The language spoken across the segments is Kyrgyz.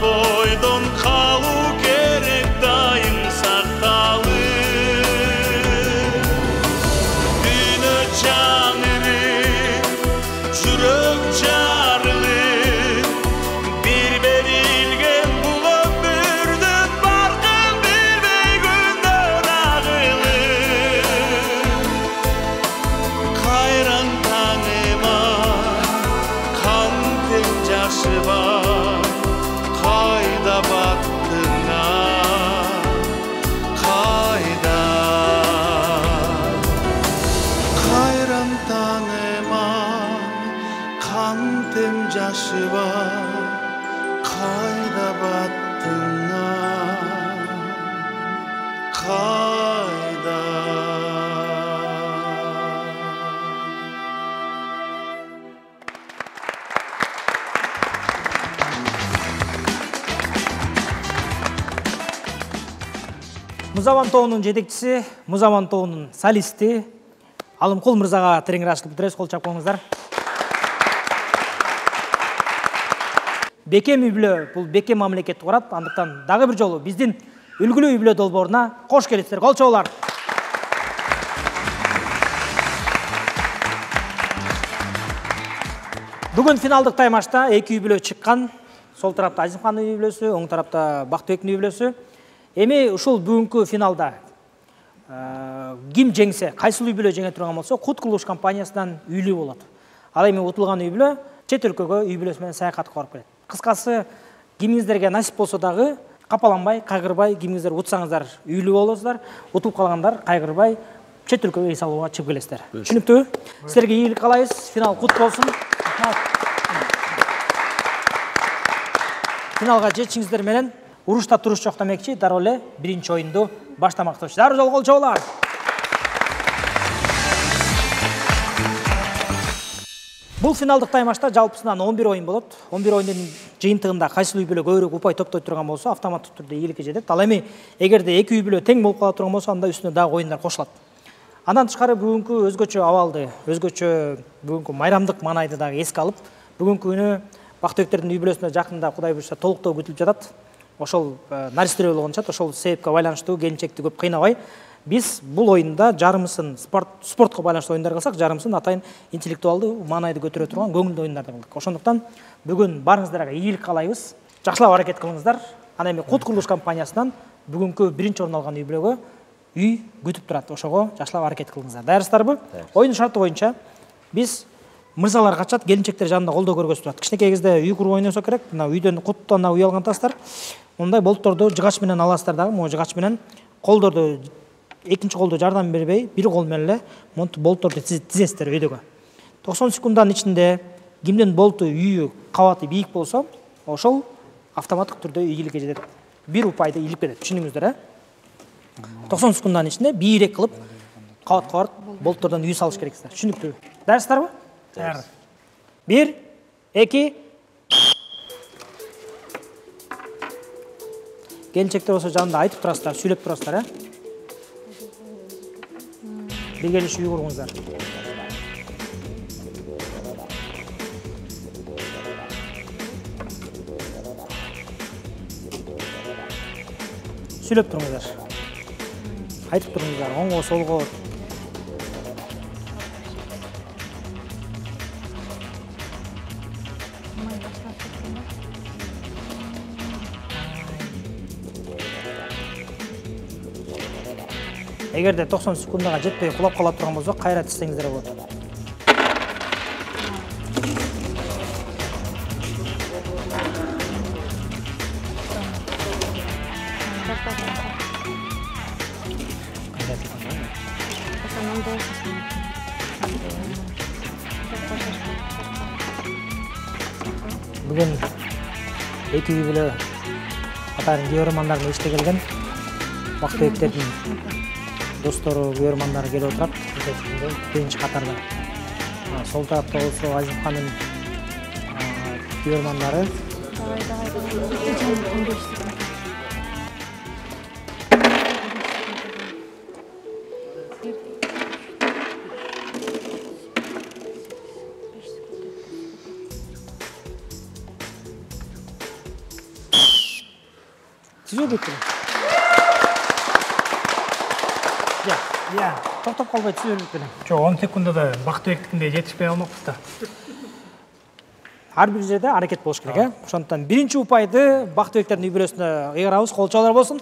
бойдон калуу керек дайым сакталып. Дүйнө жаңырып, жүрөк жарылып, бир берилген бул өмүрдүн баркын билбей күндөр агылып. Кайран таңыма кантип жашы бар, кайда бактыңа, кайда. Кайран таңыма кантип жашы бар, кайда бактыңа, кайда. Музаван тобунун жетекчиси, Музаван тобунун солисти Алымкул мырзага тереңирээк ачылып бүтүрөбүз. Кол чап коюңуздар. Бекем үй бүлө бул бекем мамлекетти курат. Андыктан дагы бир жолу биздин үлгүлүү үй бүлө долбооруна кош келипсиздер. Кол чабуулар. Бүгүн финалдык таймашта эки үй бүлө чыккан. Сол тарапта Азимхандын үй бүлөсү, оң тарапта Бактыбектин үй бүлөсү. Эми ушул бүгүнкү финалда ким жеңсе, кайсыл үй бүлө жеңе турган болсо, Кут курулуш компаниясынан үйлүү болот. Ал эми утулган үй бүлө чет өлкөгө үй бүлөсү менен саякатка барып келет. Кыскасы, кимиңиздерге насип болсо дагы капаланбай, кайгырбай, кимиңиздер утсаңыздар үйлүү болосуздар, утулуп калгандар кайгырбай чет өлкөгө эс алууга чыгып келесиздер. Түшүнүктүүбү? Силерге ийгилик каалайбыз. Финал кут болсун. Финалга жетишиңиздер менен урушта туруш жок демекчи, дароо эле биринчи оюнду баштамакчыбыз. Дароо жол кол чабуулар. Бул финалдык таймашта жалпысынан 11 оюн болот. 11 оюндун жыйынтыгында кайсыл үй бүлө көбүрөөк упай топтой турган болсо, автоматтык түрдө ийгиликке жетет. Ал эми эгерде эки үй бүлө тең болуп кала турган болсо, анда үстүнө дагы оюндар кошулат. Андан тышкары бүгүнкү өзгөчө абалды, өзгөчө бүгүнкү майрамдык маанайды дагы эске алып, бүгүнкү күнү Бактыбектердин үй бүлөсүнө жакында Кудай буйрса толуктоо күтүлүп жатат. Ошол наристер болгончат, ошол себепке байланыштуу келинчекти көп кыйнабай, биз бул оюнда жарымысын спортко байланыштуу оюндар кылсак, жарымысын атайын интеллектуалдуу маанайды көтөрө турган көңүлдүү оюндарды кылдык. Ошондуктан бүгүн барыңыздарга ийгилик каалайбыз. Жакшылап аракет кылыңыздар. Ана эми Кут курулуш компаниясынан бүгүнкү биринчи орун алган үй бүлөгө үй күтүп турат. Ошого жакшылап аракет кылыңыздар. Даярсыздарбы? Оюн шарты боюнча биз мырзалар качат, келинчектер жанында колдоо көргөзүп турат. Кичинекей кезде үй куруп ойносо керек. Мына үйдөн куттан үй алган тастар. Мындай болтторду жыгач менен аласыздар дагы, могу жыгач менен колдорду экинчи колдо жардам бербей, бир кол менен эле монтип болтторду тизесиздер өйдөгө. 90 секунддун ичинде кимдин болту үйү кабаты бийик болсо, ошол автоматтык түрдө ийгиликке жетет. Бир упайды илип кетет. Түшүндүңүздөр, 90 секунддун ичинде бийрек кылып кабатка барып болттордон үй салыш керексиздер. Түшүнүктүүбү? Даярсыздарбы? Даяр. 1, 2. Келинчектер болсо жанында айтып турасыздар, сүйлөп турасыздар, Биргелешип үй кургуңуздар. Сүйлөп туруңуздар. Айтып туруңуздар, оңго, солго. Эгерде 90 секундага жетпей кулап кала турган болсо, кайра тизсеңиздер болот. Бүгүн эки үй бүлө атайын көрөрмандардын иште келген. Бактыбектердин достору, көрөрмандары келип отурат. Биринчи катарда. Сол тарапта болсо Азимхандын көрөрмандары. Түзөлбөйт белең. Я, токтоп калбай түзөлбөйт белең. Жок, 10 секундада Бактыбектикиндей жетишпей калмакпыз да. Ар бир жерде аракет болуш керек, э? Ошондуктан биринчи упайды Бактыбектердин үй бүлөсүнө ыйгарабыз. Кол чабуулар болсун.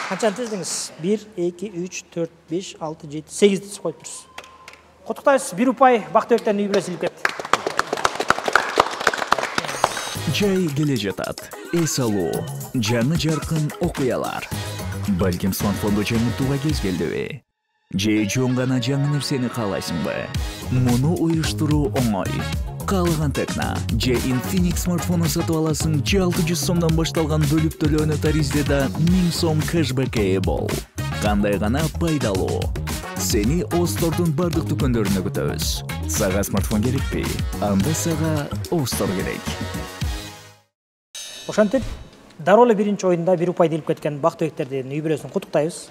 Канчаны тездиңиз? 1, 2, 3, 4, 5, 6, 7, 8 тизип коюп турсуз. Куттуктайбыз. Бир упай Бактыбектердин үй бүлөсү илип кетти. Жай келе жатат. Эс алуу, жаңы жаркын окуялар. Балким смартфонду жаңыртууга кез келдиби? Же жөн гана жаңы нерсени каалайсыңбы? Муну уюштуруу оңой. Каалаган Текна же Infinix смартфону сатып аласың, 600 сомдон башталган бөлүп төлөөнү таризде 1000 сом кэшбэкке ээ бол. Кандай гана пайдалуу. Сени Остордун бардык дүкөндөрүнө күтөбүз. Сага смартфон керекпи? Анда сага Остор керек. Ошентип, дароо эле биринчи оюнда бир упайды илип кеткен Бактыбектердин үй бүлөсүн куттуктайбыз.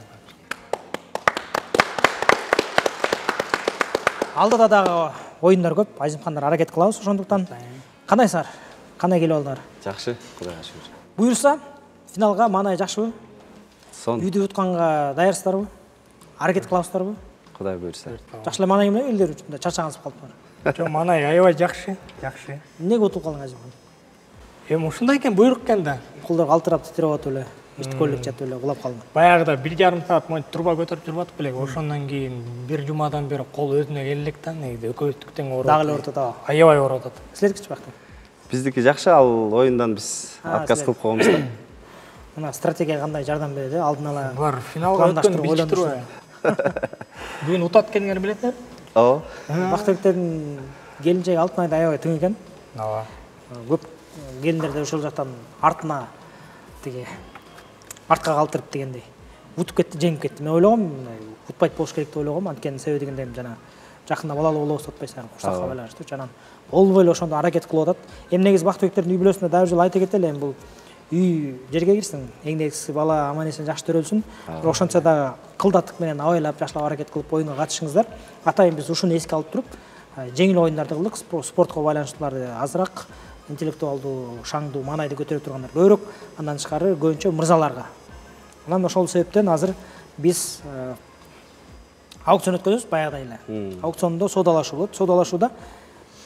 Алдыда дагы оюндар көп, Азимхандар аракет кылабыз ошондуктан. Кандайсыңар? Кандай келип алдыңар? Жакшы, Кудайга шүгүр. Буюрса, финалга маанай жакшыбы? Сон, Үйдү утканга даярсыздарбы? Аракет кылабыздарбы? Кудай буйрса. Жакшы эле маанай менен элдер үчүн чачагыңыз калыптыр. Жок, манай аябай жакшы. Эмнеге утуп калдың Азимхан? Эми ушундай экен, буйрук экен да. Колдор калтырап титиреп атып эле, эчтик элек жатып эле улап калдың. Баягыда 1,5 саат монтип турба көтөрүп жүрүп атып элек. Ошондон кийин бир жумадан бери кол өзүнө келе элек да, негизи экөөбүздүк тең ооруп. Дагы эле ооруп атат. Аябай ооруп атат. Силердикичи бактым. Биздики жакшы, ал оюндан биз отказ кылып койгонбуз да. Мына стратегия кандай жардам берет, алдын ала. Булар финалга өткөн билчип турбайбы? Бүгүн утат экениңерди билетиңер? Ооба. Бактыбектердин келинчеги Алтынайда аябай тың экен. Ооба. Көп келиндер да ошол жактан артына тиги артка калтырып дегендей утуп кетти, жеңип кетти. Мен ойлогом, утпайт болуш керек деп ойлогом. Анткени себеби дегенде жана жакында балалуу болобуз атпайсыңар, куштакка байланыштуу. Жанан болбой эле ошондо аракет кылып атат. Эми негизи Бактыбектердин үй бүлөсүнө дагы бир жолу айта кетели, эми бул үй жерге кирсин, эң негизгиси бала аман эсен жакшы төрөлсүн. Ошончо дагы кылдаттык менен абайлап жакшылап аракет кылып оюнга катышыңыздар. Атайын биз ушуну эске алып туруп, жеңил оюндарды кылдык, спортко байланыштууларды азыраак, интеллектуалдуу, шаңдуу, маанайды көтөрө тургандар көбүрөөк, андан тышкары көбүнчө мырзаларга. Анан ошол себептен азыр биз аукцион өткөзөбүз баягыдай эле. Аукциондо соодалашуу болот. Соодалашууда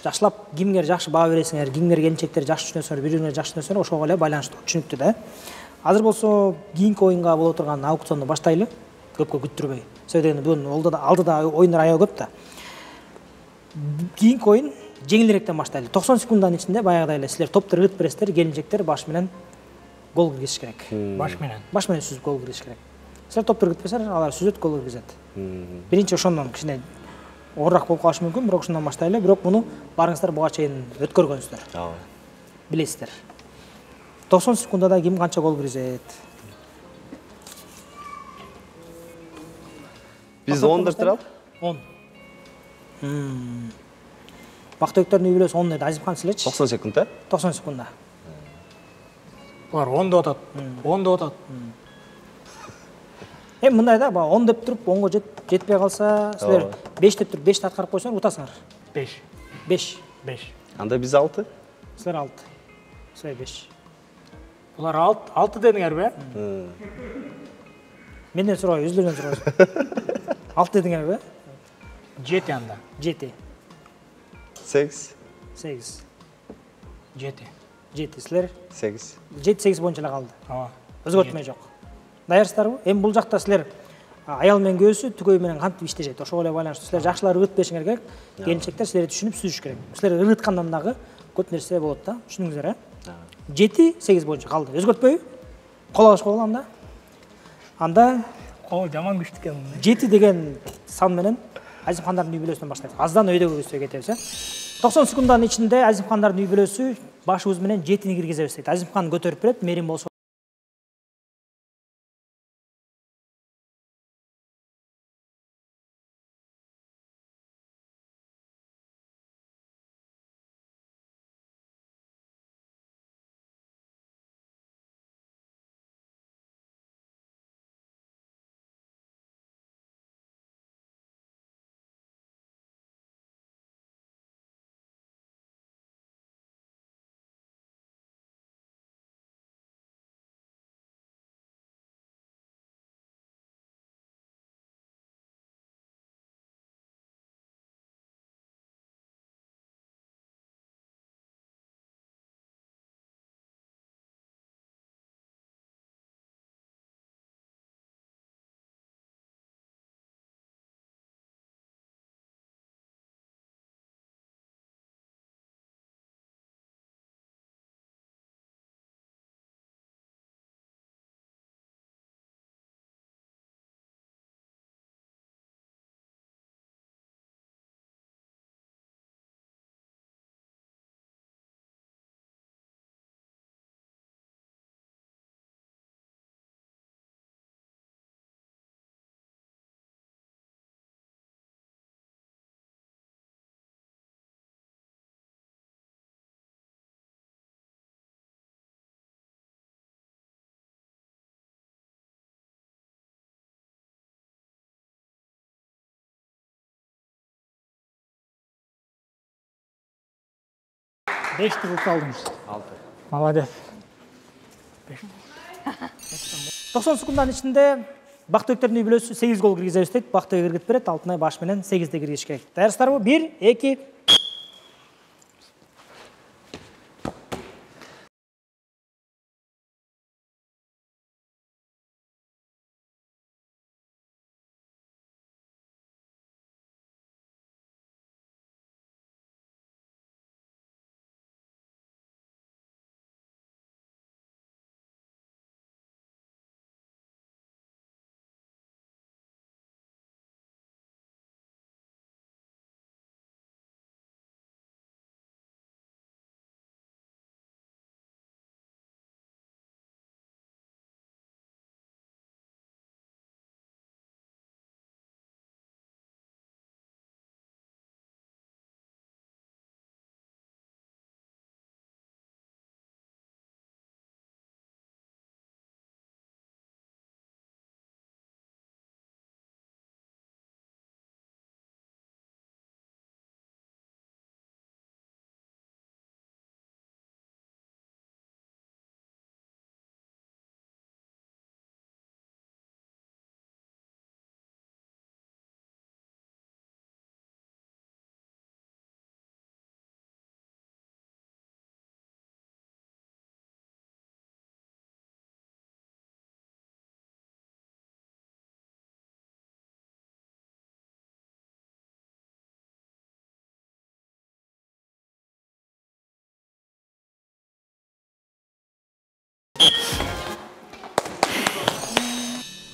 жакшылап кимге жакшы баа бересиңер, кимге келинчектер жакшы түшүнөсүңөр, бири-бирине жакшы түшүнөсүңөр, ошого эле байланыштуу, түшүнүктүү да. Азыр болсо кийинки оюнга боло турган аукционду баштайлы, көпкө күттүрбөй. Себеби дегенде бүгүн алдыда оюндар аябай көп да. Кийинки оюн жеңилирээктен баштайлы. 90 секундданын ичинде баягыдай эле силер топтор ырыт бересиздер, келинчектер баш менен гол киргизиш керек. Баш менен. Баш менен сүзүп гол киргизиш керек. Силер топтор ырыт берсеңер, алар сүзөт, гол киргизет. Биринчи ошондон кичине оорураак болуп калышы мүмкүн, бирок ушундан баштайлы. Бирок муну барыңыздар буга чейин өткөргөнсүздөр. Ооба. Билесиздер. 90 секундада ким канча гол киргизет? Биз 10 деп туралы? 10. Бактыбектердин үй бүлөсү 10 деди. Азимхан силерчи? 90 секунд, 90 секундда. Булар 10 деп атат. 10 деп атат. Эми мындай да, 10 деп туруп 10го жетпей калса, силер 5 деп туруп 5ти аткарып койсоңор утасыңар. 5. 5. Анда биз 6. Силер 6. Силер 5. Булар 6 дедиңерби? Менден сурабай, өзүлөрүнөн сурабайсың. 6 дедиңерби? 7 анда. 7. 8. 8. 7. 7. Силер 8. 7-8 боюнча эле калды. Ооба. Өзгөртмө жок. Даярсыздарбы? Эми бул жакта силер аял менен көөсү түгөй менен кантип иштешет, ошого эле байланыштуу. Силер жакшылап ырыт беришиңер керек. Келинчектер силерди түшүнүп сүзүш керек. Силер ырыткандан дагы көп нерсе болот да. Түшүндүңүздөр, 7-8 боюнча калды. Өзгөртпөйбү? Кол алыш койгула анда. Анда Кол жаман күчтүү экен. 7 деген сан менен Азимхандардын үй бүлөсүнөн баштайбыз. Аздан өйдөгө көзгө кетебиз, 90 секундданын ичинде Азимхандардын үй бүлөсү башыбыз менен 7-ни киргизебиз дейт. Азимхан көтөрүп берет, Мерим болсо 5 кылып алдың. 6. Молодец. 90 секундданын ичинде Бактыбектердин үй бүлөсү 8 гол киргизебиз дейт. Бактыбек иргип берет. Алтынай баш менен 8де киргизиш керек. Даярсыздарбы? 1, 2.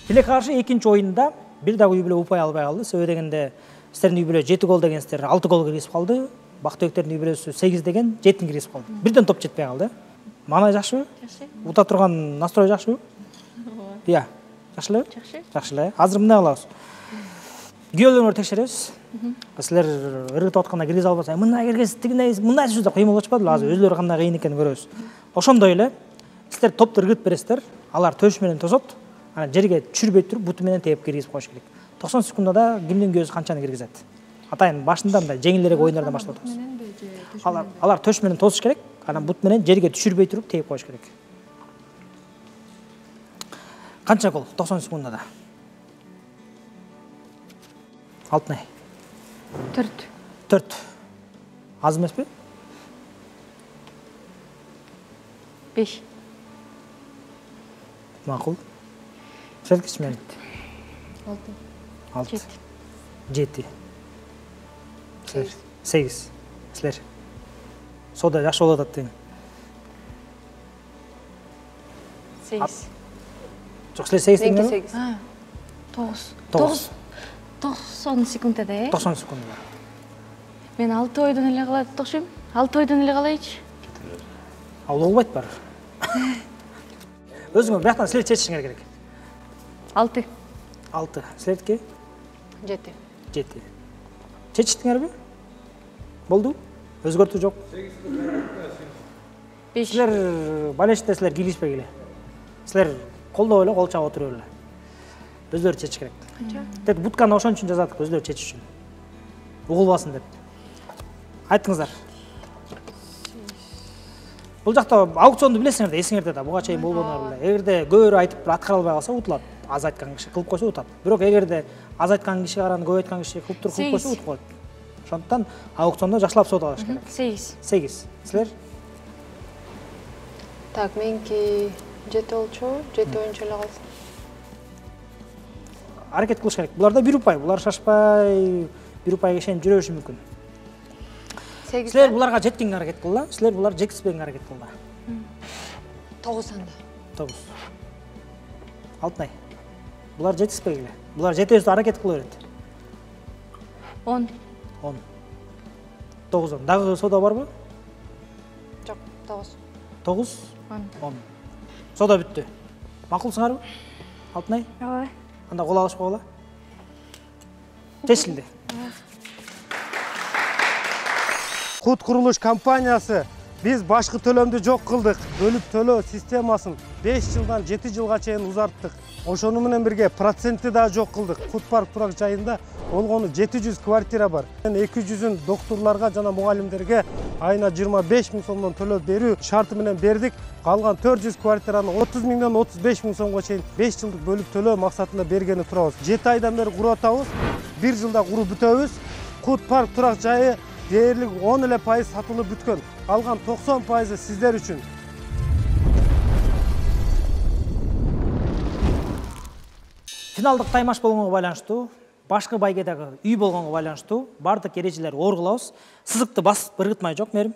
Тилекке каршы экинчи оюнда бир дагы үй бүлө упай албай калды. Себеби дегенде сиздердин үй бүлө 7 гол дегенсиздер 6 гол киргизип калды. Бактыбектердин үй бүлөсү 8 деген 7 киргизип калды. Бирден топ жетпей калды. Мана жакшыбы? Жакшы. Ута турган настрой жакшыбы? Иә. Жакшы эле? Жакшы. Жакшы эле. Азыр мындай кылабыз. Күйөөлөрүңөрдү текшеребиз. Силер ыргытып атканда киргизе албаса, мындай киргиз, тигиндей, мындай сөздөр кыйын болуп атпадыбы? Азыр өзүлөрү кандай кыйын экенин көрөбүз. Ошондой эле силер топту ыргытып бересиздер. Алар төш менен тосот. Анан жерге түшүрбөй туруп буту менен тээп киргизип коюш керек. 90 секундада кимдин көзү канчаны киргизет? Атайын башында мындай жеңилдерээк оюндардан баштап атабыз. Алар төш менен тосуш керек. Анан бут менен жерге түшүрбөй туруп тээп коюш керек. Канча гол 90 секундада? Алтынай. 4. Аз эмеспи? 5. Макул. Серкич мен? 6. 7. 8. Силер. Сода жакшы болуп атат дейм. 8. Жок, силер 8 дегенби? 9. 90 секундада, 90 секундада. Мен 6 ойдон эле калат окшойм. 6 ойдон эле калайчы. Ал болбойт баары. Өзүңөр бияктан силер чечишиңер керек. 6. 6. Силердики? 7. 7. Чечиштиңерби? Болду? Өзгөртүү жок. 5. Силер балеште силер кийлишпей келе. Силер колдоп эле, кол чабып отуруп эле. Өзлөрү чечиш керек. Тет бутканы ошон үчүн жазадык, өзлөрү чечиш үчүн. Угулбасын деп. Айтыңыздар. Бул жакта аукционду билесиңер да, эсиңерде да, буга чейин болгондор эле. Эгерде көбүрө айтып аткара албай калса утулат. Аз айткан киши кылып койсо утат. Бирок эгерде аз айткан киши караны көп айткан киши кылып туруп кылып койсо утуп коет. Ошондуктан аукциондо жакшылап соода кылыш керек. 8. 8. Силер? Так, меники 7 болчу, 7 оюнчу эле калсын. Аракет кылыш керек. Буларда бир упай, булар шашпай, бир упайга ишенип жүрө бериши мүмкүн. Силер буларга жеткенге аракет кылла, силер булар жеткизбегенге аракет кылла. 9 анда. 9. Алтынай. Булар жеткизбегиле. Булар жетебизди аракет кыла берет. 10. 10. 9. Дагы соода барбы? Жок, 9. 9. 10. Соода бүттү. Макулсуңарбы? Алтынай? Ооба. Анда кол алышып койгула. Чечилди. Кут курулуш компаниясы Биз башкы төлөмдү жок кылдык. Бөлүп төлөө системасын 5 жылдан 7 жылга чейин узарттык. Ошону менен бирге процентти да жок кылдык. Кут парк турак жайында болгону 700 квартира бар. 200-ün доктурларга жана мугалимдерге айына 25 000 сомдон төлөп берүү шарты менен бердик. Калган 400 квартираны 30 000-дон 35 000 сомго чейин 5 жылдык бөлүп төлөө максатында бергени турабыз. 7 айдан бери куруп атабыз. 1 жылда куруп бүтөбүз. Кут парк турак жайы дээрлик 10% сатылып бүткөн. Калган 90% сиздер үчүн. Финалдык таймаш болгонго байланыштуу, башкы байгедагы үй болгонго байланыштуу бардык эрежелерди оргулабыз. Сызыкты басып ыргытмай жок Мерим.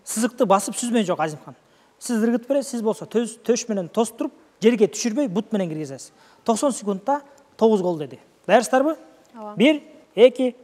Сызыкты басып сүзмөй жок Азимхан. Сиз ыргытып бересиз, сиз болсо төш менен тостуруп, жерге түшүрбөй бут менен киргизесиз. 90 секундта 9 гол деди. Даярсыздарбы? 1, 2,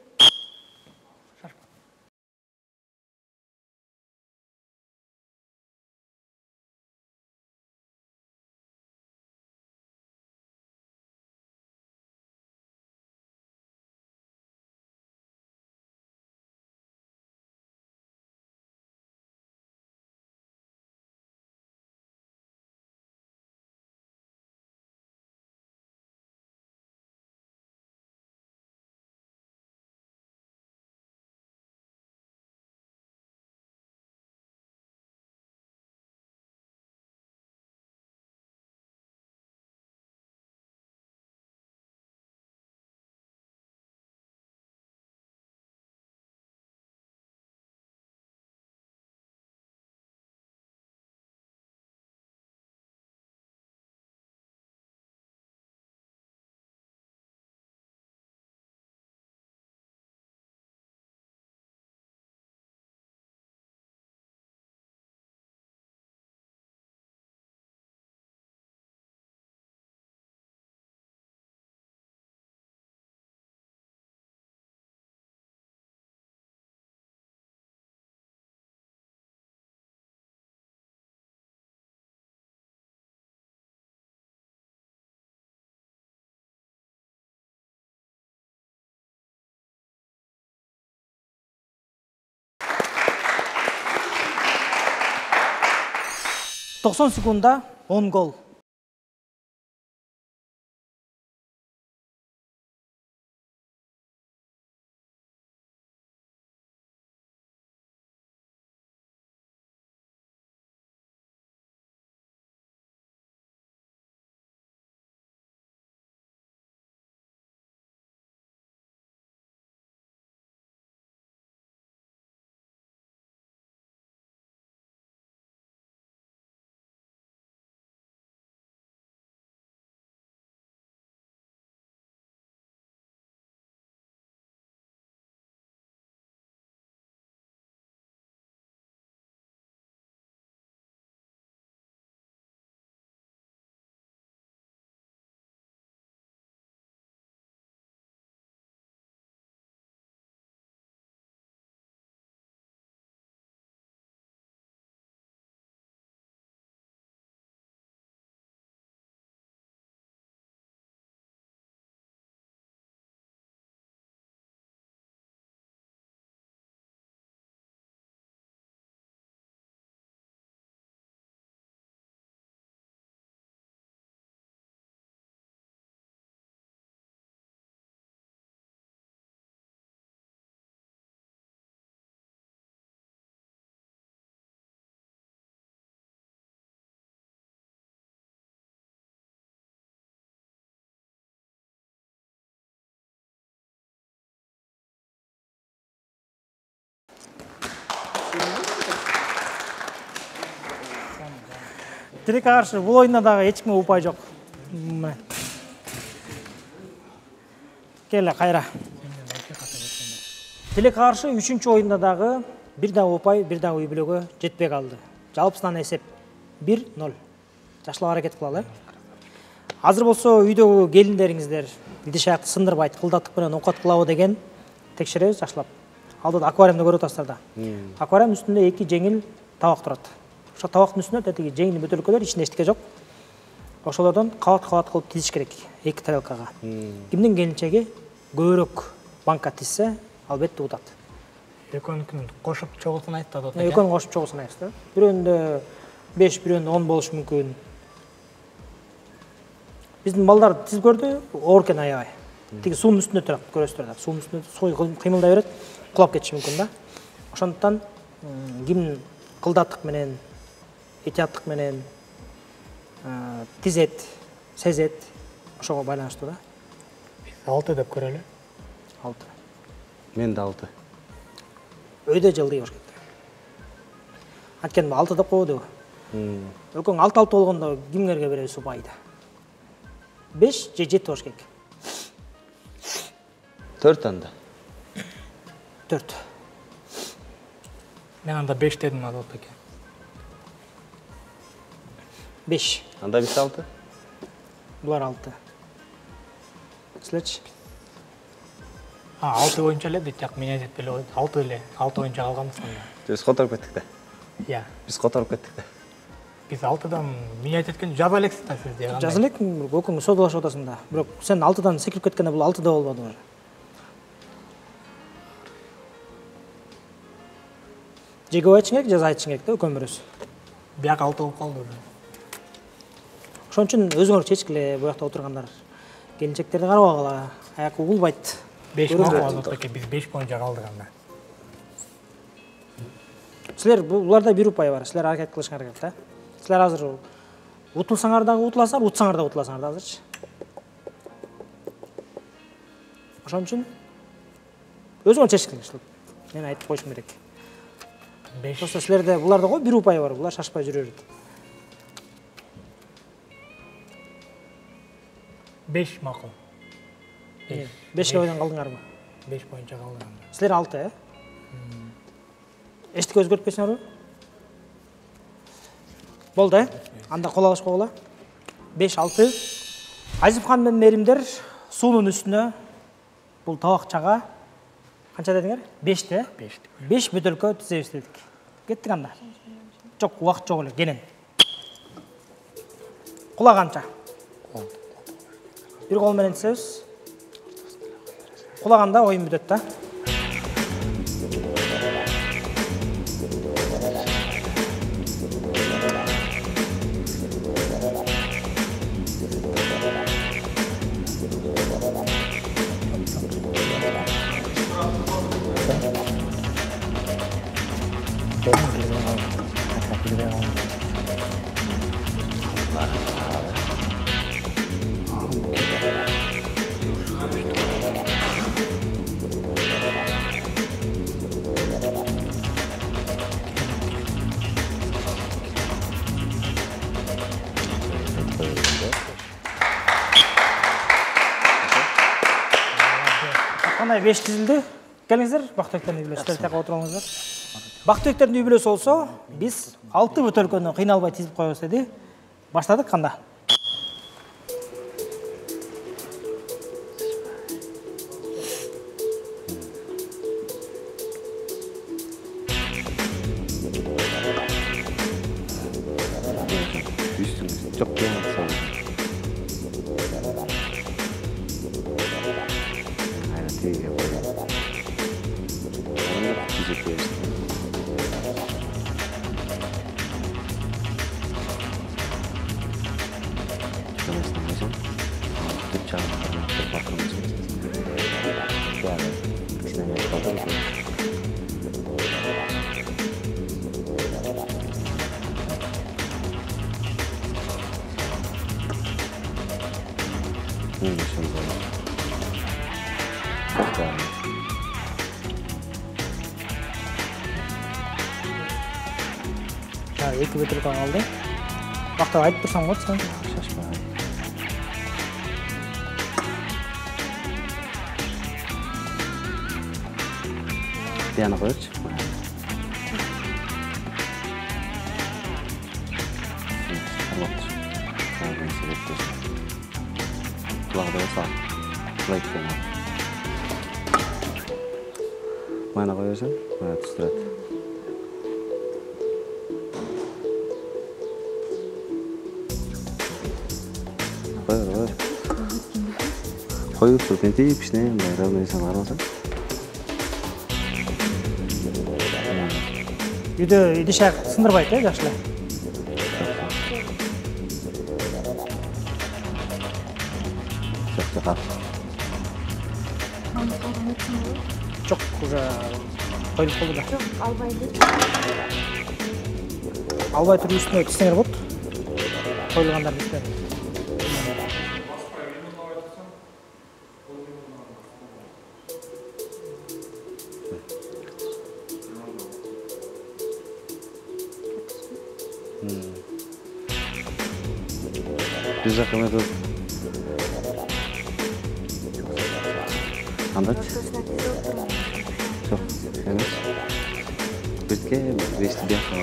...90 секундда 10 гол. Тилекке каршы бул оюнда дагы эч кимге упай жок. Келе кайра. Тилекке каршы 3-чү оюнда дагы бир дагы упай, бир дагы үй бүлөгө жетпей калды. Жалпысынан эсеп 1-0. Жакшылап аракет кылалы. Азыр болсо үйдөгү келиндериңиздер идиш аякты сындырбай кылдаттык менен оокат кылабы деген текшеребиз жакшылап. Алдыда аквариумду көрүп атасыздар да. Аквариум үстүндө 2 жеңил табак турат. Ошо табактын үстүнө тетиги жеңил бөтөлкөлөр, ичинде эчтеке жок. Ошолордон кабат кылып тизиш керек 2 тарелкага. Кимдин келинчеги көбүрөөк банка тизсе, албетте утат. Экөөнүкүн кошуп чогулсун айтты да. Экөөнү кошуп чогулсун айтты да. Бирөөнүндө 5, бирөөнүндө 10 болушу мүмкүн. Биздин балдар тизип көрдү, оор экен аябай. Тиги суунун үстүндө турат, көрөсүздөр да. Суунун үстүндө суу кыймылдай берет, кулап кетиши мүмкүн да. Ошондуктан ким кылдаттык менен, этияттык менен тизет, сезет, ошого байланыштуу да. 6 деп көрөлү. 6. Мен да 6. Өйдө жылдый болуш керек. Анткени 6 деп койбодубу? Экөөң 6 болгондо кимдерге беребиз упайды? 5 же 7 болуш керек. 4 анда. 4. Мен анда 5 дедим Азат эке. 5. Анда биз 6. Булар 6. Силерчи? 6 боюнча эле дейт, жак мен айтып эле койду. 6 эле. 6 боюнча калганбыз анда. Биз которуп кеттик да. Иә. Биз которуп кеттик да. Биз 6дан мен айтып кеткен жаза элексиз да сиз деген. Жаза элекмин, экөөң содалашып атасың да. Бирок сен 6дан секирип кеткенде бул 6 да болбоду уже. Же көп айтышың керек, жаза айтышың керек да, экөөң бирөөсү. Бияк 6 болуп калды уже. Ошон үчүн өзүңөр чечкиле, бу жакта отургандар. Келинчектерди карабагыла, аяк угулбайт. 5 макул Азат эке, биз 5 боюнча калдык анда. Силер буларда бир упай бар. Силер аракет кылышыңар керек да. Силер азыр утулсаңар дагы утуласыңар, утсаңар дагы утуласыңар да азырчы. Ошон үчүн өзүңөр чечкиле. Мен айтып коюшум керек. 5. Просто силерде буларда го бир упай бар. Булар шашпай жүрө берет. 5 макул. 5 ойдон калдыңарбы? 5 боюнча калдык анда. Силер 6, Эчтик өзгөртпөйсүңөрбү? Болду, Анда кол алыш койгула. 5-6. Азипхан менен Меримдер суунун үстүнө бул табакчага канча дедиңер? 5-те? 5 бөтөлкө түзөбүз дедик. Кеттик анда. Жок, убакыт жок эле, кенен. Кулаганча. Бир кол менен түзөбүз. Кулаганда оюн бүтөт да. Кандай 5 тизилди. Келиңиздер, Бактыбектердин үй бүлөсү. Силер тияка отуруңуздар. Бактыбектердин үй бүлөсү болсо, биз 6 бөтөлкөнү кыйналбай тизип коебуз деди. Баштадык канда? Жок, болмаса. Айна тиге коём. Эки бөтөлкө калды. Бактап айтып турсаң болот сен. Шашпа. Тияна коёчу. Құлағыда болса, құлай кеткен. Майна қойырсың, майна түстіреді. Қойыр. Қойыр, түркен тейіп, ішіне, равнойсан армасың. үйдө идиш аяк сындырбайт жакшы эле. Жок, уже коюлуп калды да. Жок, албайды. Албай туруп үстүнө кисеңер болот. Коюлгандардын үстүнө. Бир жака эмне кандай? Жок, эмес. Бирке, бешти бияка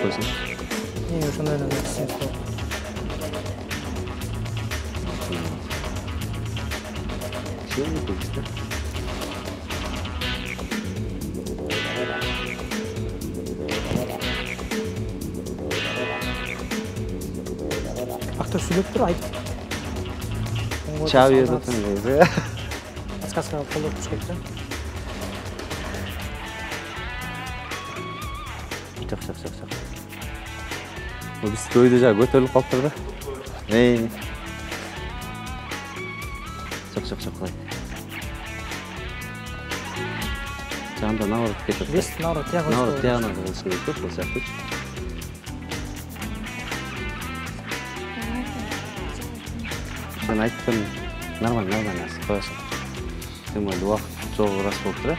койсоң. Ошондой эле кисеңиз болот. Актор сүйлөп тур, айт. Чаби өтөтөн дейби. Подсказка колдоп туруш керек да. Жок. Бул биз көйдө жа көтөрүлүп калыптыр да. Жок. Жанда наоборот кетет. Бес наоборот тияк. Наоборот тиягына болуш керек да, ошол сыяктуу. Sen ayттым, нормально азыр коесуң. Тем более убакыт жок раз болуп тур.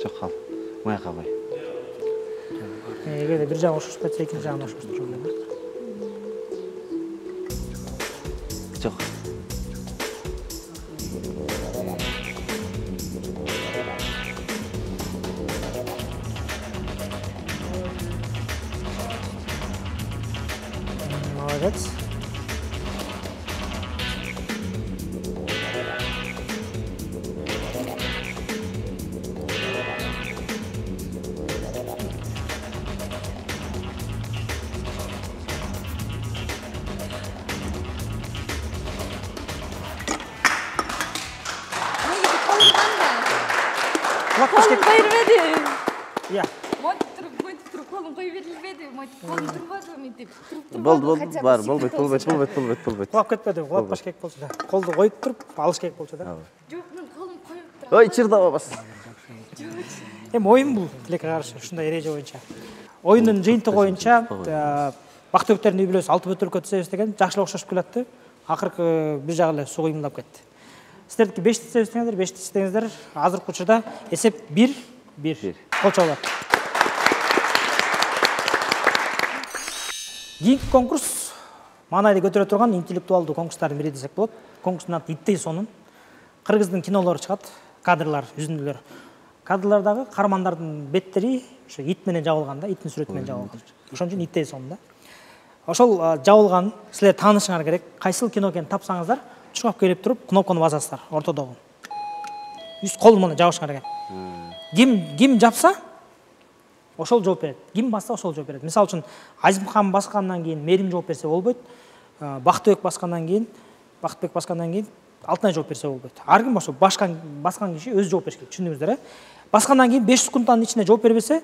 Жок кал. Маяка кой. Эгерде бир жагы ошошуп кетсе, экинчи жагын ошоштуруш керек. Жок. Молодец. Колум кое бербеди. Иә. Мойтуп туруп колум кое берилбеди. Мойтуп колум турбады мынтип. Болду, бар, болбойт. Кулап кетпеди, кулатпаш керек болчу да. Колду коюп туруп, алыш керек болчу да. Жок, мен колум коюп турам. Ой, чырдап абас. Эми оюн бул, тилекке каршы, ушундай эреже боюнча. Оюндун жыйынтыгы боюнча Бактыбектердин үй бүлөсү 6 бөтөлкө тизебиз деген жакшы эле окшошуп келатты. Акыркы бир жагы эле суу кыймылдап кетти. Сиздердики 5 тизебиздеңиздер, 5 тизебиздеңиздер. Азыркы учурда эсеп 1-1. Колчоолор. Кийинки конкурс маанайды көтөрө турган интеллектуалдуу конкурстардын бири десек болот. Конкурстун аты Иттей сонун. Кыргыздын кинолору чыгат, кадрлар, үзүндүлөр. Кадрлардагы каармандардын беттери ошо ит менен жабылган да, иттин сүрөтү менен жабылган. Ошон үчүн Иттей сонун да. Ошол жабылган силер таанышыңар керек. Кайсыл кино экенин тапсаңыздар, чуркап келип туруп, кнопканы басасыздар ортодогу. Үст кол менен жабышыңар экен. Ким жапса, ошол жооп берет. Ким басса, ошол жооп берет. Мисалы үчүн, Азимхан баскандан кийин Мерим жооп берсе болбойт. Бактыбек баскандан кийин Алтынай жооп берсе болбойт. Ар ким ошо баскан киши өз жооп бериш керек. Түшүндүңүздөр, Баскандан кийин 5 секундтан ичинде жооп бербесе,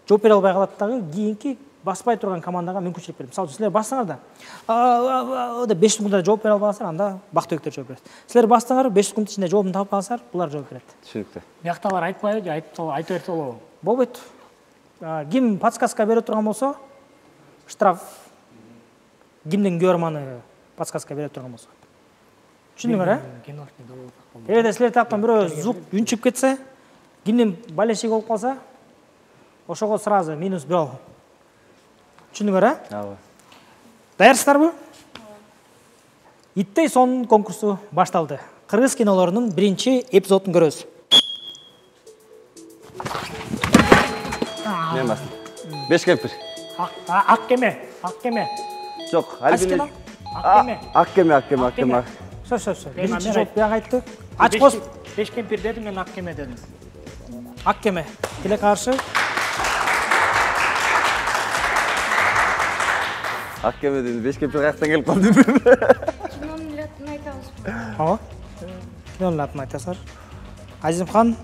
жооп бере албай калат дагы кийинки баспай турган командага мүмкүнчүлүк берет. Мисалы үчүн, силер бассаңар да 5 секундда жооп бере албасаңар, анда Бактыбектер жооп берет. Силер бассаңар 5 секунд ичинде жообун таап алсаңар, булар жооп берет. Түшүнүктүү. Бияктагылар айтпайбы же айта берсе болобу? Болбойт. Ким подсказка бере турган болсо, штраф. Кимдин көрманы подсказка бере турган болсо. Түшүндүңөр, Эгерде силер таптан бирөө звук үнчүп кетсе, кимдин балешиги болуп калса, ошого сразу минус 1. Түшүндүңөр, Ооба. Даярсыздарбы? Иттей сонун конкурсу башталды. Кыргыз кинолорунун биринчи эпизодун көрөбүз. Мен бастым. 5 кемпир. Ак кеме. Жок, Альбин. Ак кеме. Ак кеме. Сөз. Биринчи жооп бияк айтты. Ач кос. 5 кемпир дедим, мен ак кеме дедим. Ак кеме. Тиле каршы. Ак кеме дедим, 5 кемпир каяктан келип калды? Кинонун атын айтабызбы? Ооба. Кинонун атын айтасыздар. Азимхан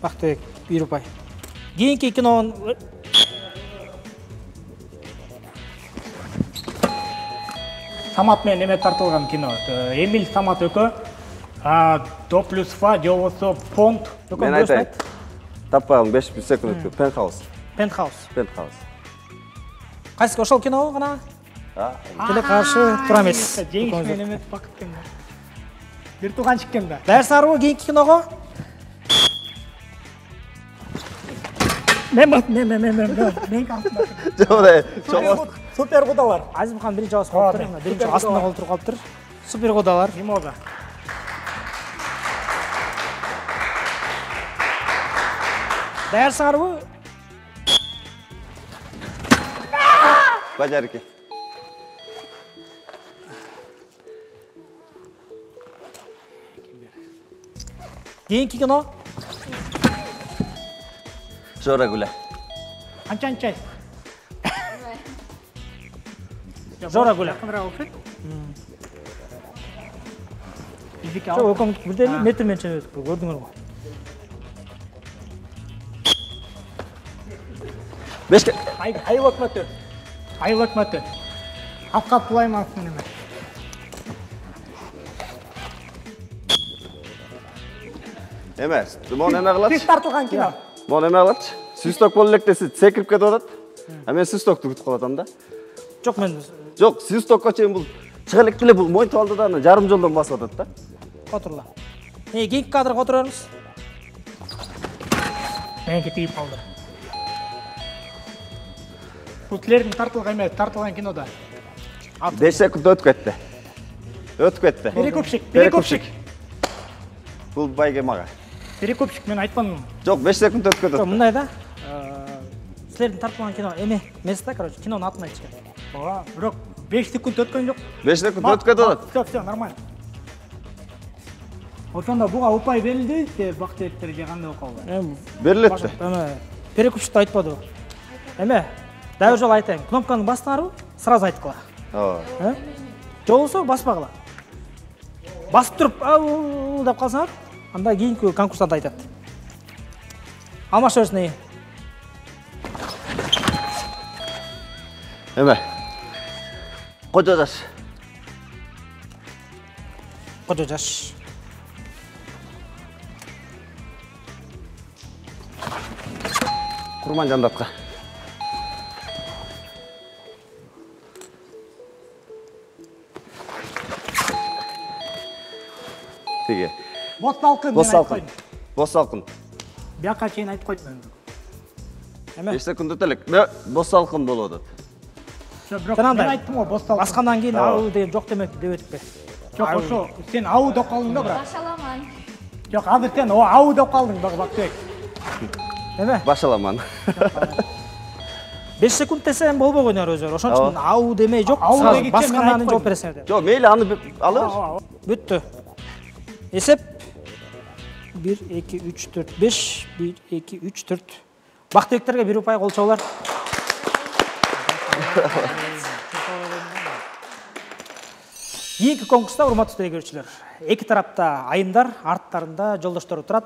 Бактыбек 1 упай. Кийинки кинонун Самат менен эме тартылган кино. Эмиль Самат экөө. До плюс фа же болбосо фонд. Мен айтайын. Таппагым 5 секунд өткөн. Пентхаус. Кайсы ошол кино гана? Теле каршы тура эмес. Жеңиш менен эмес, бакытпен. Бир тууганчык экен да. Дайыр сарбы кийинки киного? Мен супер кудалар. Азимхан биринчи жабыс калыптыр. Биринчи астында колтуруп калыптыр. Супер кудалар. Мимоза. Дайыр сарбы? Бажарки. Кийинки кино? Жора Гүле. Анчанчай. Жора Гүле. Жок, оком бирде эле метр менен ченеп өтүп көрдүңөр го. Бешке. Айыл өкмөтү. Афкат Сулаймановдун эме. Эмес, мону эме кылат. Биз тартылган кино. Мону эме кылат. Свисток болуп электеси секирип кетип атат. А мен свистокту күтүп калатам да. Жок, мен Жок, свистокко чейин бул чыга электе эле бул мойтуп алды да аны жарым жолдон басып атат да. Отурла. Кийинки кадрга отурабыз. Меники тийип калды. Бул силердин тартылган эмес, тартылган кинода. 5 секунд өтүп кетти. Перекупщик. Бул байге мага. Перекупщик мен айтпадым. Жок, 5 секунд өтүп кетти. Мындай да. Силердин тартылган кино эме эмес да, короче, кинонун атын айтышкан. Ооба, бирок 5 секунд өткөн жок. 5 секунд өтүп кетип атат. Все, нормально. Ошондо буга упай берилди, же бактыбектер же кандай околду? Берилет. Эме перекупщикти айтпадыбы? Эме дагы жолу айтайын. Кнопканы бастыңарбы? Сразу айткыла. Ооба. Же болбосо баспагыла. Басып туруп ау деп калсаңар, анда кийинки конкурстант айтат. Алмаша берсин. Эме. Кожо жаш. Курман Жандатка. Тиги. Бос салкын. Бияка чейин айтып койдум. Эме 5 секунд өтөлүк. Бос салкын болуп атат. Мен айттым го, бос салкын. баскандан кийин ау деген жок демек деп өтүппү. Жок, ошо сен ау деп калдың да бирок. Башаламан. Жок, азыр сен ау деп калдың да Бактыбек. Эме Башаламан. 5 секунд десем болбогон өзү. Ошон үчүн ау демей жок, Ау сразу дегенче баскандан мен кийин жооп бересиңер деп. Жок, мейли аны алабыз. Бүттү. Эсеп 1 2 3 4 5 1 2 3 4. Бактыбектерге 1 упай кол чабуулар. Кийинки конкурста урматтуу тегерүүчүлөр, эки тарапта айымдар, арттарында жолдоштору турат.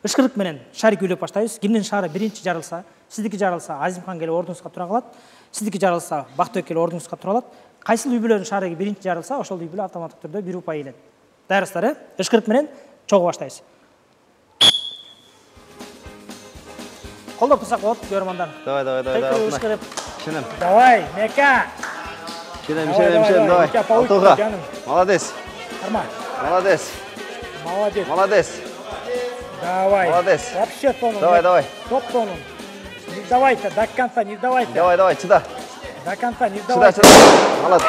Ышкырык менен шарик үйлөп баштайбыз. Кимдин шары биринчи жарылса, сиздики жарылса, Азимхан келип ордуңузга тура калат. Сиздики жарылса, Бактыбек келип ордуңузга тура алат. Кайсыл үй бүлөнүн шары биринчи жарылса, ошол үй бүлө автоматтык түрдө 1 упай ийет. Дайырсыздар, ышкырык менен чогуу баштайбыз. Колдоп турсак болот, көрөрмандар. Давай. Ышкырып. Шенем. Давай, Мека. Шенем, давай. Алтыга. Молодец. Нормально. Молодец. Давай. Молодец. Вообще тону. Давай. Топ тону. Не сдавайся, до конца не сдавайся. Давай, чыда. До конца не сдавайся. Молодец.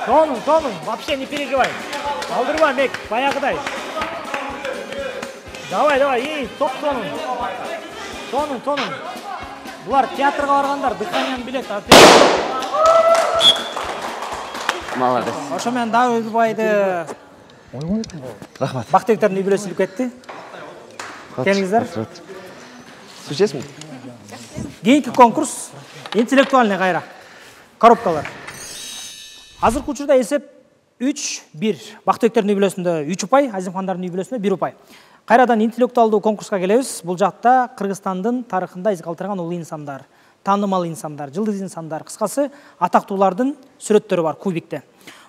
Тону, вообще не переживай. Алдырма, Мек, баягыдай. Давай, ей, топ тону. Тону. Булар театрга баргандар, дыханияны билет. Молодец. Ошо менен дагы Өлбайды. Рахмат. Бактыбектердин үй бүлөсү кетти. Келиңиздер. Су ичесиңби? Кийинки конкурс интеллектуальный кайра. Коробкалар. Азыркы учурда эсеп 3-1. Бактыбектердин үй бүлөсүндө 3 упай, Азимхандардын үй бүлөсүндө 1 упай. Кайрадан интеллектуалдуу конкурска келебиз. Бул жакта Кыргызстандын тарыхында из калтырган улуу инсандар, таанымал инсандар, жылдыз инсандар, кыскасы атактуулардын сүрөттөрү бар кубикте.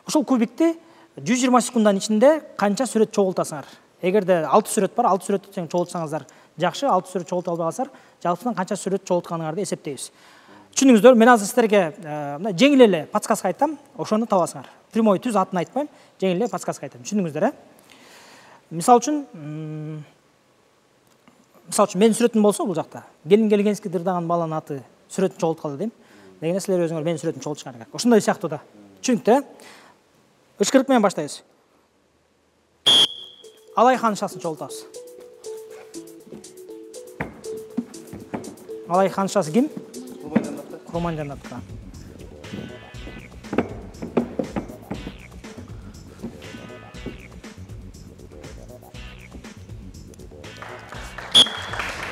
Ушул кубикти 120 секунддун ичинде канча сүрөт чогултасыңар? Эгерде 6 сүрөт бар, 6 сүрөттү тең чогултсаңыздар жакшы, 6 сүрөт чогулта албай калсаңар, жалпысынан канча сүрөт чогултканыңарды эсептейбиз. Түшүндүңүздөр, мен азыр силерге жеңил эле подсказка айтам, ошону табасыңар. Прямой түз атын айтпайм, жеңил эле подсказка айтам. Түшүндүңүздөр, Мисалы үчүн менин сүрөтүм болсо бул жакта, келин келгенский дырдаган баланын аты сүрөтүн чогулткалы дейм. Дегенде силер өзүңөр менин сүрөтүмдү чогултушуңар керек. Ошондой сыяктуу да. Түшүнүктү? Ышкырык менен баштайбыз. Алай ханышасын чогултабыз. Алай ханышасы ким? Курман Жаннатовка.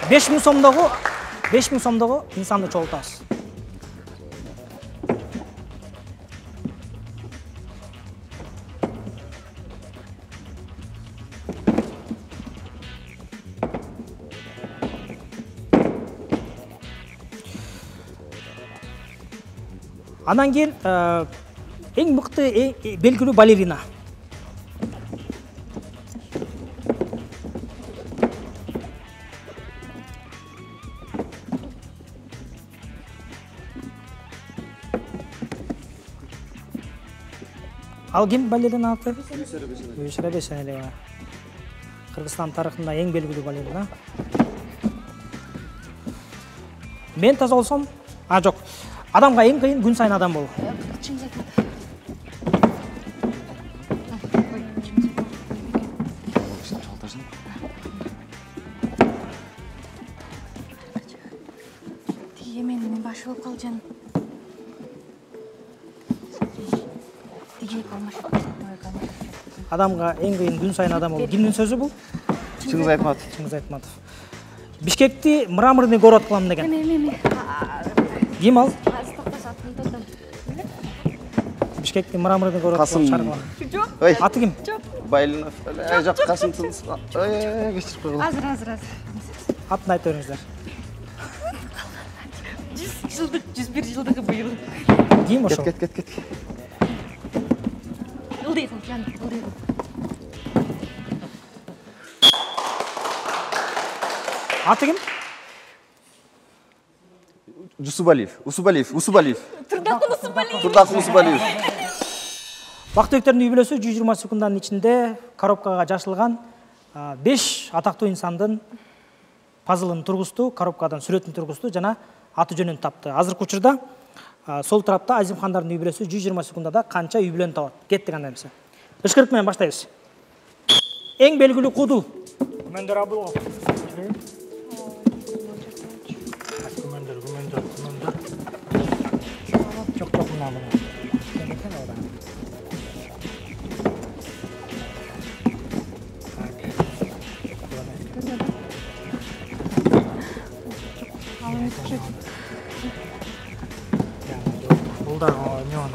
Беш миң сомдогу инсанды чогултабыз. Анан кийин эң мыкты, белгилүү балерина. Ал ким балерина аты? Гүлшара Бейсенелиева. Кыргызстан тарыхында эң белгилүү балерина. Мен таза болсом, жок. Адамга эң кыйын күн сайын адам болуу. Тиги менин башы болуп калжан. Адамга эң кыйын күн сайын адам болуу. Кимдин сөзү бул? Чыңгыз Айтматов. Чыңгыз Айтматов. Бишкекти мраморный город кылам деген. Ким ал? Бишкекти мраморный город кылып чаргылам. Ой. Аты ким? Байлинов. Жок, Касым Тыныс. Ой, кечирип койгула. Азыр. Атын айтып бериңиздер. 101 жылдыгы быйыл. Ким ошол? Кет. Ылдыйгыл, жан, ылдыйгыл. Аты ким? Усубалиев. Турдакул Усубалиев. Бактыбектердин үй бүлөсү 120 секунддун ичинде коробкага жашылган 5 атактуу инсандын пазлын тургузду, коробкадан сүрөтүн тургузду жана аты жөнүн тапты. Азыркы учурда сол тарапта Азимхандардын үй бүлөсү 120 секундада канча үй бүлөнү табат? Кеттик анда эмесе. Ышкырык менен баштайбыз. Эң белгилүү куду. Күмөндөр Абылов. Жок, мына. Бул да не он.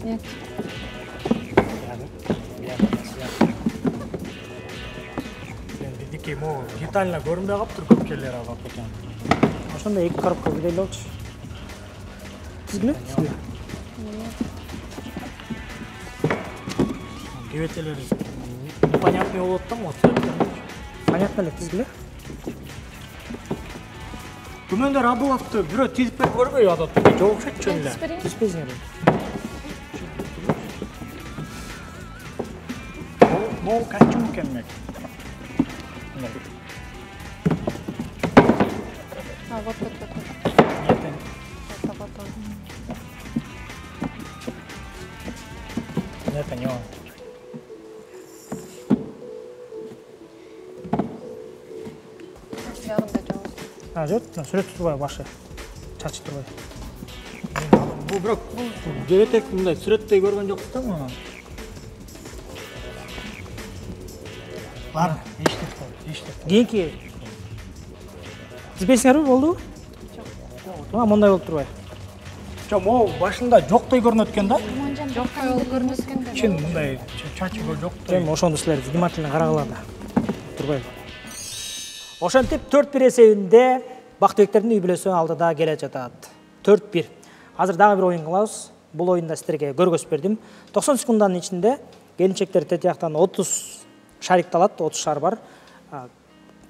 Нет. Биздики могу детально көрүнбөй калыптыр көп келер алып экен. Ошондой эки коробка биле болчу. Тизгиле? Кебетелери непонятный болот да, вот. Понятно эле, тизгиле? Күмөндөр Абыловду бирөө тизип берип көрбөй атат. Жок окшойт чөн эле. Тизбейсиңер. Бул качым келмек. Вот. Это не он. Жок, сүрөт турбай башы. Чачы турбай. Бул бирок жебетек мындай сүрөттөй көргөн жокпуз да муну. Ладно, иштеп. Кийинки Тизбейсиңерби, болдубу? Жок. Мондай болуп турбайбы? Жок, могу башында жоктой көрүнөт экен да. Жоктой болуп көрүнөт экен да. Чын мындай чачы жоктой. Эми ошондо силер внимательно карагыла да. Турбайбы? Ошентип 4-1 эсебинде Бактыбектердин үй бүлөсү алдыда келе жатат. 4-1. Азыр дагы бир оюн кылабыз. Бул оюнда силерге көргөзүп бердим. 90 секунданын ичинде келинчектер тет жактан 30 шарикти алат, 30 шар бар.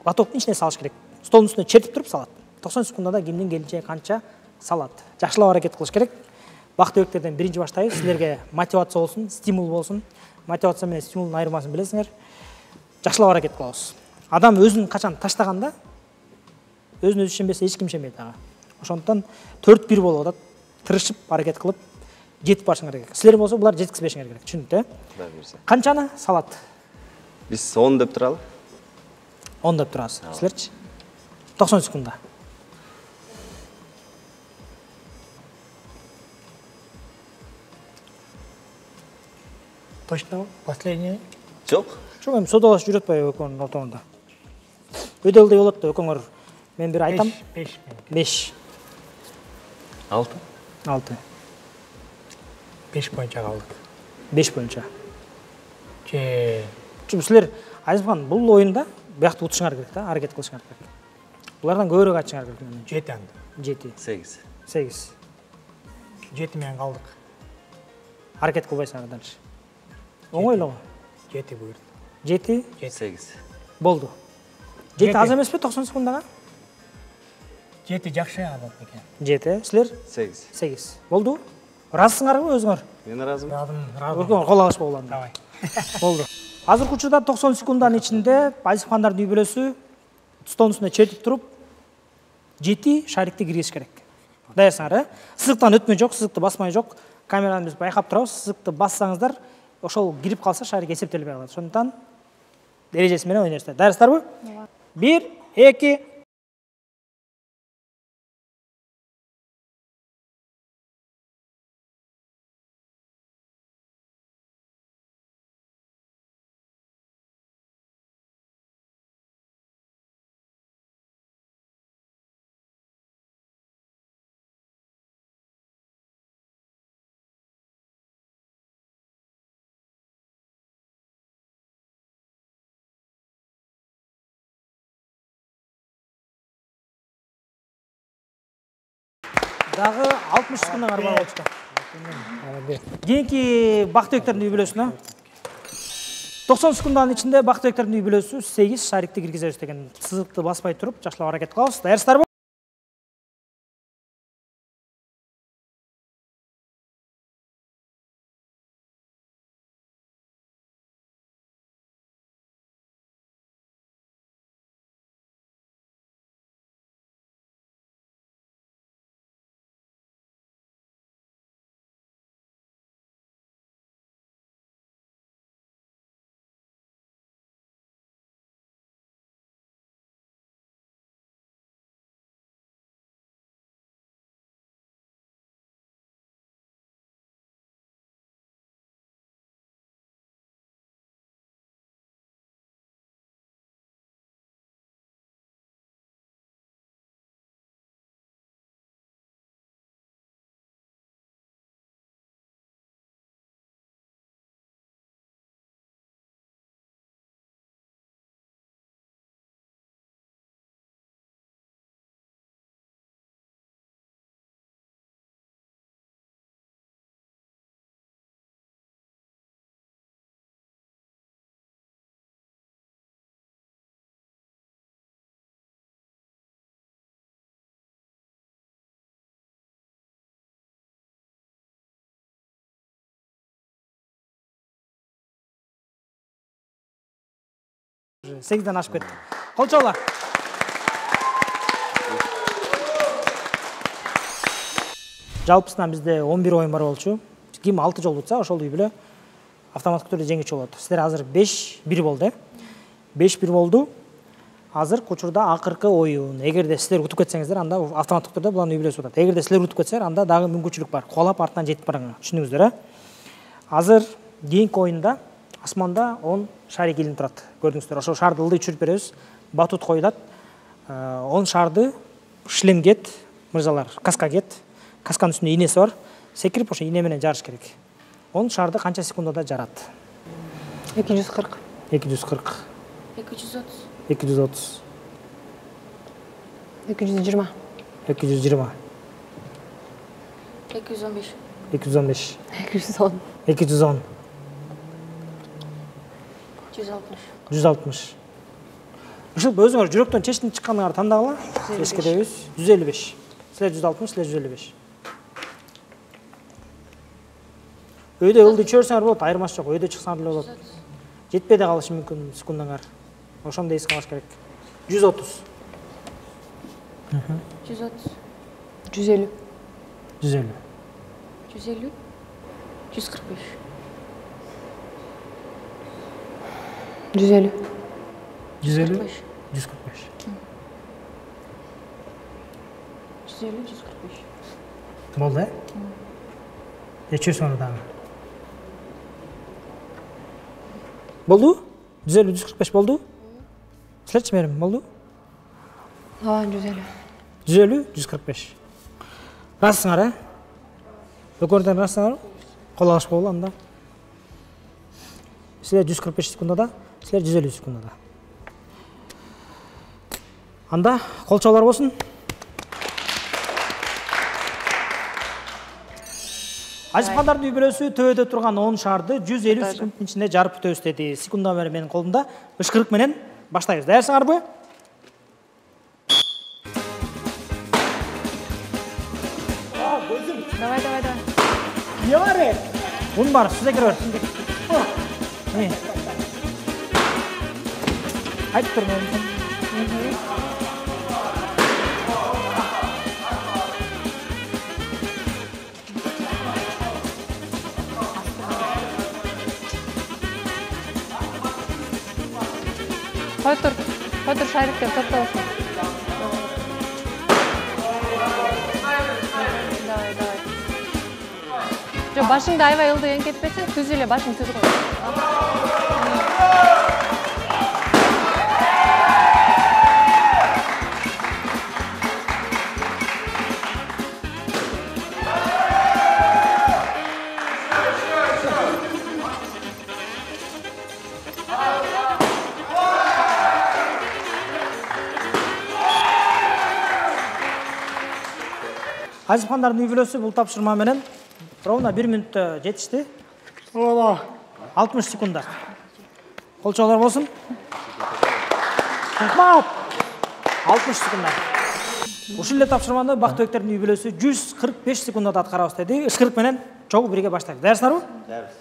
Лотоктун ичине салыш керек. Столдун үстүнө чертип туруп салат. 90 секундада кимдин келинчеги канча салат. Жакшылап аракет кылыш керек. Бактыбектерден биринчи баштайбыз. Силерге мотивация болсун, стимул болсун. Мотивация менен стимулдун айырмасын билесиңер. Жакшылап аракет кылабыз. Адам өзүн качан таштаганда, өзүн өзү ишенбесе эч ким ишенбейт ага. Ошондуктан 4-1 болуп атат. Тырышып аракет кылып жетип барышыңар керек. Силер болсо булар жеткизбешиңер керек. Түшүнүктү, Берсе. Канчаны салат? Биз 10 деп туралы. 10 деп турасыз. Силерчи? 90 секунда. Точно последний. Жок. Жок, эми содалашып жүрөт атпайбы экөөнүн ортоңунда? Өйдөлдөй болот да, экөөңөр. Мен бир айтам. 5. 6. 6. 5 боюнча калдык. 5 боюнча. Же Силер Азизхан, бул оюнда биякты утушуңар керек да, аракет кылышыңар керек. Булардан көбүрөөк айтышыңар керек. 7 анда. 7. 8. 8. 7 менен калдык. Аракет кылбайсыңар дальше. Оңой эле го. 7 буйрду. 7. 8. Болду. 7 аз эмеспи 90 секундага? 7 жакшы алат экен. 7. Силер? 8. 8. Болду? Разысыңарбы өзүңөр? Мен разымын. Разым. Кол алышпа улам. Давай. Болду. Азыркы учурда 90 секунданын ичинде Азизхандардын үй бүлөсү столдун үстүнө чертип туруп 7 шарикти киргизиш керек. Даярсыңар, Сызыктан өтмө жок, сызыкты басмай жок. Камераны биз байкап турабыз. Сызыкты бассаңыздар, ошол кирип калса шарик эсептелбей калат. Ошондуктан эрежеси менен ойнойсуздар. Даярсыздарбы? 1, 2. Дагы 60 секундаңар бар болчу. Кийинки Бактыбектердин үй бүлөсүнө 90 секунданын ичинде Бактыбектердин үй бүлөсү 8 шарикти киргизебиз деген. Сызыкты баспай туруп, жакшылап аракет кылабыз. Даярсыздарбы? Сегизден ашып кетти. Кол чабуулар. Жалпысынан бизде 11 оюн бар болчу. Ким 6 жолу утса, ошол үй бүлө автоматтык түрдө жеңүүчү болот. Силер азыр 5-1 болду. 5-1 болду. Азыр учурда акыркы оюн. Эгерде силер утуп кетсеңиздер, анда автоматтык түрдө булардын үй бүлөсү утат. Эгерде силер утуп кетсеңер, анда дагы мүмкүнчүлүк бар. Кубалап артынан жетип барыңар. Түшүндүңүздөр, Азыр кийинки оюнда асманда 10 шарик илинип турат. Көрдүңүздөр, ошол шарды ылдый түшүрүп беребиз. Батут коюлат. 10 шарды шлемгет, мырзалар, каскагет. Касканын үстүндө ийнеси бар. Секирип ошо ийне менен жарыш керек. 10 шарды канча секундада жарат? 240. 240. 230. 230. 220. 220. 215. 215. 210. 210. 160. 160. Ушул өзүңөр жүрөктөн чечинип чыкканыңарды тандагыла. Эскеребиз. 155. Силер 160, силер 155. Өйдө ылды чөөрсөңөр болот, айырмасы жок. Өйдө чыксаңар деле болот. Жетпей да калышы мүмкүн секундаңар. Ошондо эске алыш керек. 130. 130. 150. 150. 150. 145. 150. 150. 145. 145. 150, 145. Болду, чөөрсөңөр дагы. Болду? 150, 145 болду? Силерчи мерим, болду? 150. 150, 145. Расыңар, Өкөрдөн расыңар, кол алышпа болду анда. Силер 145 секундада, силер 150 секундада. Анда колчолор болсун. Ажыпкандардын үй бүлөсү төбөдө турган 10 шарды 150 секунддун ичинде жарып бүтөбүз деди. Секунда менин колумда. Ышкырык менен баштайбыз. Даярсыңарбы? Давай, давай, давай. Не бар? Un бар, сизде кире бер. Айтып турмун. Кой тур шариктер топтолушун. Давай, давай. Жо, башыңды аябай ылдый эңкетпесең, түз эле башың түз кой. Ажыпкандардын үй бүлөсү бул тапшырма менен ровно 1 минутта жетишти. 60 секунда. Колчолор болсун. 60 секунда. Ушул эле тапшырманы Бактыбектердин үй бүлөсү 145 секундада аткарабыз деди. Ышкырык менен чогуу бирге баштайбыз. Даярсыңарбы? Даярбыз.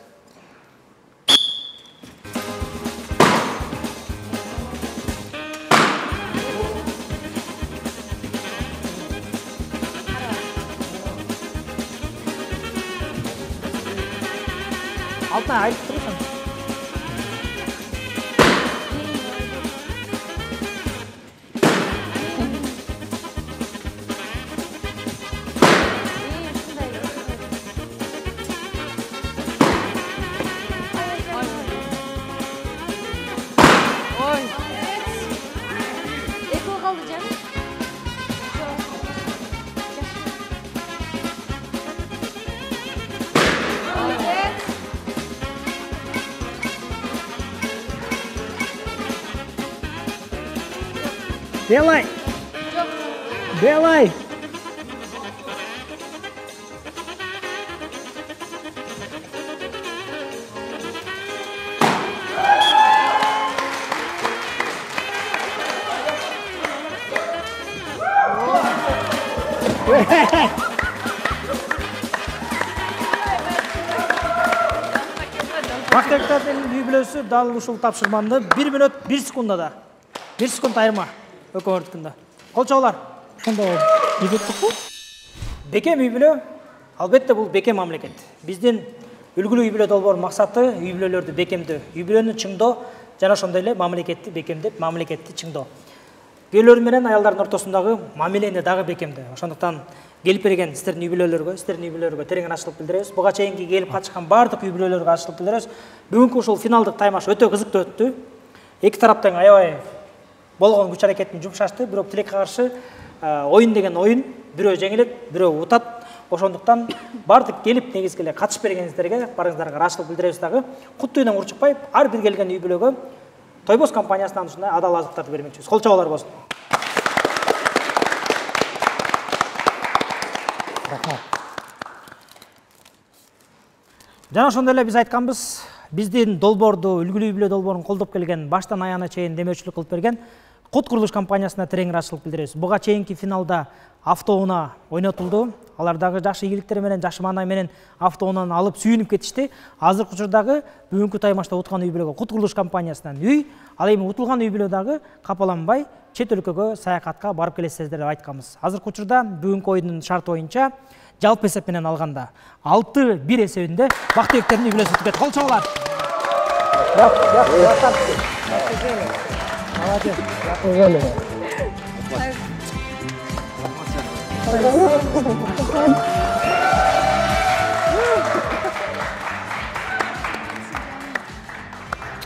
Алтына айтып тұрсың. Ой. Эки калды жаным. Делай! Делай! Бактыбектердин үй бүлөсү дал ушул тапшырманы 1 минут 1 секундада. 1 секунд айырма. Өкөрдүкүндө. Колчолор. Ошондо үйбөттүкпү? Бекем үй бүлө, албетте бул бекем мамлекет. Биздин үлгүлүү үй бүлө долбоорунун максаты үй бүлөлөрдү бекемдөө, үй бүлөнү чыңдоо жана ошондой эле мамлекетти бекемдеп, мамлекетти чыңдоо. Күйөөлөр менен аялдардын ортосундагы мамилени дагы бекемдөө. Ошондуктан келип берген сиздердин үй бүлөлөргө терең ырчылык билдиребиз. Буга чейинки келип катышкан бардык үй бүлөлөргө ырчылык билдиребиз. Бүгүнкү ушул финалдык таймаш өтө кызыктуу өттү. Эки тараптан аябай болгон күч аракетин жумшашты, бирок тилекке каршы оюн деген оюн, бирөө жеңилет, бирөө утат. Ошондуктан бардык келип негизги эле катышып бергениңиздерге барыңыздарга ыраазычылык билдиребиз дагы. Кутты үйдөн урчукпай, ар бир келген үй бүлөгө Тойбос компаниясынан ушундай адал азыктарды бермекчибиз. Кол чабуулар болсун. Рахмат. Жана ошондой эле биз айтканбыз, биздин долбоорду, үлгүлүү үй бүлө долбоорун колдоп келген, баштан аягына чейин демөөрчүлүк кылып берген Кут курулуш компаниясына терең ыраазычылык билдиребиз. Буга чейинки финалда автоунаа ойнотулду. Алар дагы жакшы ийгиликтер менен, жакшы маанай менен автоунааны алып сүйүнүп кетишти. Азыркы учурдагы бүгүнкү таймашта уткан үй бүлөгө Кут курулуш компаниясынан үй, ал эми утулган үй бүлө дагы капаланбай чет өлкөгө саякатка барып келесиздер деп айтканбыз. Азыркы учурда бүгүнкү оюндун шарты боюнча жалпы эсеп менен алганда 6-1 эсебинде бактыбектердин үй бүлөсү өтүп кетти. Кол чабуулар.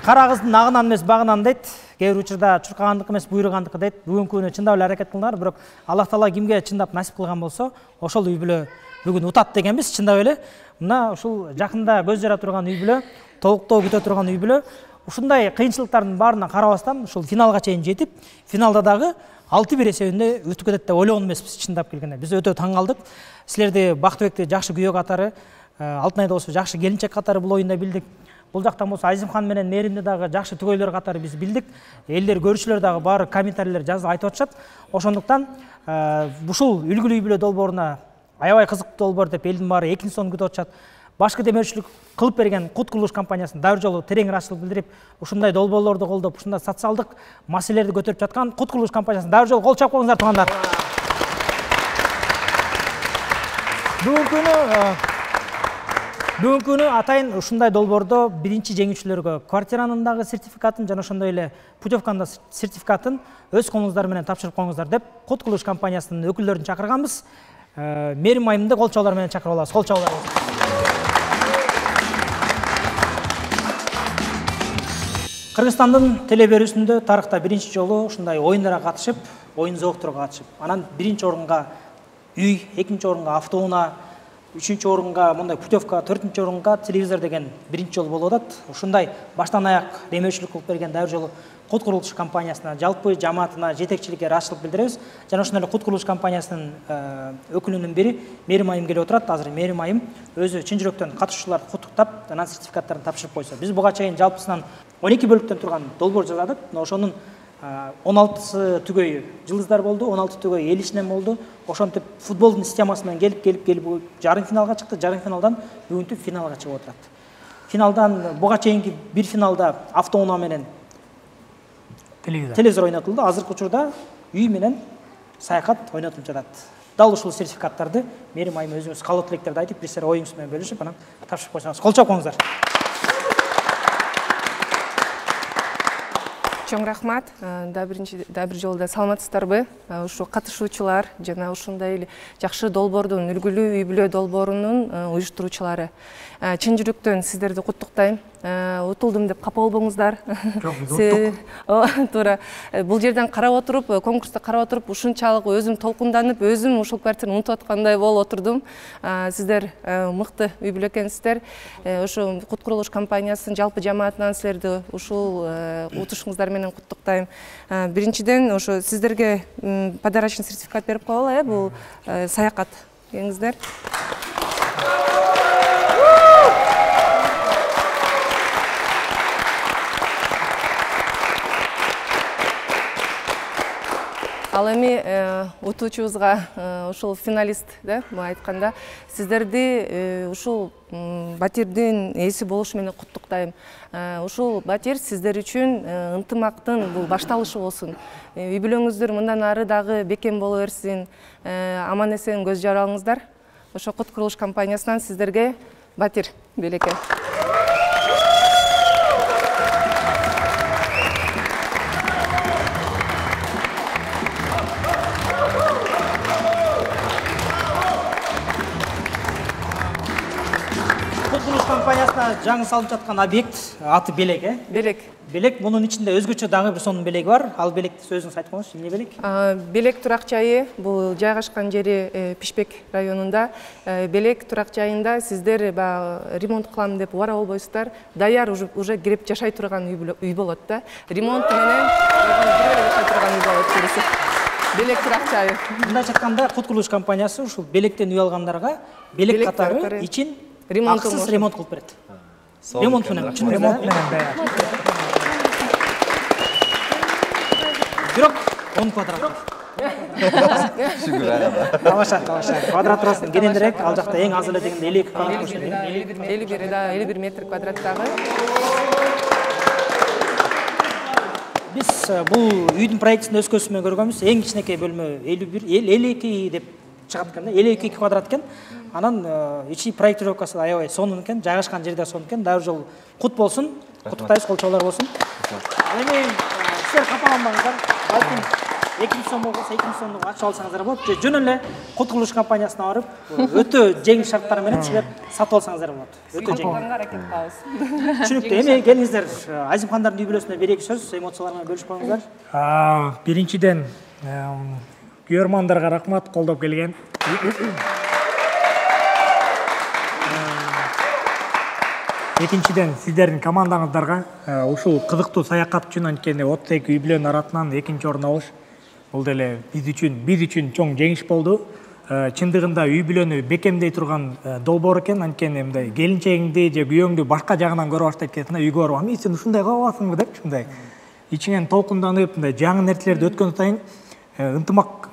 Кара кыздын агынан эмес багынан дейт. Кээ бир учурда чуркагандык эмес буйругандык дейт. Бүгүнкү күнү чындап эле аракет кылдыңар, бирок Аллах Таала кимге чындап насип кылган болсо, ошол үй бүлө бүгүн утат дегенбиз, чындап эле. Мына ушул жакында көз жара турган үй бүлө, толуктоо күтө турган үй бүлө, ушундай кыйынчылыктардын баарына карабастан ушул финалга чейин жетип, финалда дагы 6-1 эсебинде өтүп кетет деп ойлогон эмеспиз, чындап келгенде. Биз өтө таң калдык. Силерди Бактыбекти жакшы күйөө катары, Алтынайды болсо жакшы келинчек катары бул оюнда билдик. Бул жактан болсо Азимхан менен Мээримди дагы жакшы түгөйлөр катары биз билдик. Элдер, көрүүчүлөр дагы баары комментарийлер жазып айтып атышат. Ошондуктан ушул үлгүлүү үй бүлө долбооруна аябай кызыктуу долбоор деп элдин баары экинчи сонун күтүп атышат. Башкы демөөрчүлүк кылып берген Кут курулуш компаниясына дагы жолу терең ыраазычылык билдирип, ушундай долбоорлорду колдоп, ушундай социалдык маселелерди көтөрүп жаткан Кут курулуш компаниясына дагы жолу кол чап коюңуздар, туугандар. Бүгүнкү күнү атайын ушундай долбоордо биринчи жеңүүчүлөргө квартиранын дагы сертификатын жана ошондой эле путевканын сертификатын өз колуңуздар менен тапшырып коюңуздар деп Кут курулуш компаниясынын өкүлдөрүн чакырганбыз. Мээрим айымды кол чабуулар менен чакырып алабыз. Кол чабуулар. Кыргызстандын теле берүүсүндө тарыхта биринчи жолу ушундай оюндарга катышып, оюн зоокторго катышып, анан биринчи орунга үй, экинчи орунга автоунаа, үчүнчү орунга мындай путевка, төртүнчү орунга телевизор деген биринчи жолу болуп атат. Ушундай баштан аяк демөөрчүлүк кылып берген дагы жолу Кут курулуш компаниясына, жалпы жамаатына, жетекчиликке ыраазычылык билдиребиз. Жана ошондой эле Кут курулуш компаниясынын өкүлүнүн бири Мээрим айым келип отурат. Азыр Мээрим айым өзү чын жүрөктөн катышуучуларды куттуктап, анан сертификаттарын тапшырып койсо. Биз буга чейин жалпысынан 12 бөлүктөн турган долбоор жасадык. Ошонун 16сы түгөйү жылдыздар болду, 16 түгөйү эл ичинен болду. Ошентип футболдун системасы менен келип жарым финалга чыкты. Жарым финалдан бүгүнкү финалга чыгып отурат. Финалдан буга чейинки бир финалда автоунаа менен телевизор ойнотулду. Азыркы учурда үй менен саякат ойнотулуп жатат. Дал ушул сертификаттарды Мээрим айым өзүңүз каалоо тилектерди айтып, бир сер оюңуз менен бөлүшүп, анан тапшырып койсоңуз. Кол чап коюңуздар. Чоң рахмат. Да бир жолу саламатсыздарбы? Ушу катышуучулар жана ушундай эле жакшы долбоордун, үлгүлүү үй бүлө долбоорунун уюштуруучулары. Чын жүрөктөн сиздерди куттуктайм. Утулдум деп капа болбоңуздар. Туура. Бул жерден карап отуруп, конкурсту карап отуруп, ушунчалык өзүм толкунданып, өзүм ушул квартираны унутуп аткандай болуп отурдум. Сиздер мыкты үй бүлө экенсиздер. Ошо Кут курулуш компаниясынын жалпы жамаатынан силерди ушул утушуңуздар менен куттуктайм. Биринчиден ошо сиздерге подарочный сертификат берип коелу, бул саякат. Келиңиздер. Ал эми утуучубузга ушул финалист да айтканда сиздерди ушул батирдин ээси болушу менен куттуктайм. Ушул батир сиздер үчүн ынтымактын бул башталышы болсун. Үй бүлөңүздөр мындан ары дагы бекем боло берсин. Аман эсен көз жаралыңыздар. Ошо Кут курулуш компаниясынан сиздерге батир белеке. Компаниясына жаңы салынып жаткан объект аты Белек, Белек. Белек, мунун ичинде өзгөчө дагы бир сонун белеги бар. Ал белекти өзүңүз айтып коңузчу, эмне белек? Белек турак жайы бул жайгашкан жери Пишпек районунда. Белек турак жайында сиздер ремонт кылам деп убара болбойсуздар. Даяр уже кирип жашай турган үй болот да. Ремонт менен жашай турган үй болот келиси. Белек турак жайы. Мындайча айтканда, кут курулуш компаниясы ушул белектен үй алгандарга белек катары ичин акысыз ремонт кылып берет. Ремонт менен, ремонт менен. Бирок 10 квадрат. Тамаша. Квадрат турасын кенендирээк, ал жакта эң аз эле дегенде 52 квадрат болушу керек. 51 метр квадраттагы. Биз бул үйдүн проектисин өз көзүбүз менен көргөнбүз. Эң кичинекей бөлмө 52 деп чыгат экен да, 52 квадрат экен. Анан ичи проектировкасы аябай сонун экен, жайгашкан жерде сонун экен. Дагы жол кут болсун, куттуктайбыз, колчоолор болсун. Эми силер капаланбаңыздар. Балким 2000 сом болсо 2000 сомдук акча алсаңыздар болот. Жөн эле кут курулуш компаниясына барып, өтө жеңил шарттар менен силер сатып алсаңыздар болот. Өтө жеңил. Аракет кылабыз. Түшүнүктүү. Эми келиңиздер, Азимхандардын үй бүлөсүнө бир-эки сөз, эмоциялар менен бөлүшүп коюңуздар. Биринчиден күйөрмандарга рахмат, колдоп келген. Экинчиден сиздердин командаңыздарга ушул кызыктуу саякат үчүн анткени 32 үй бүлөнүн арасынан экинчи орун алыш бул деле биз үчүн чоң жеңиш болду. Чындыгында үй бүлөнү бекемдей турган долбоор экен, анткени мындай келинчегиңди же күйөөңдү башка жагынан көрө баштайт экенсиң, үйгө барып, "Ами сен ушундай кыла аласыңбы?" деп ушундай ичиңен толкунданып, мындай жаңы нерселерди өткөн сайын ынтымак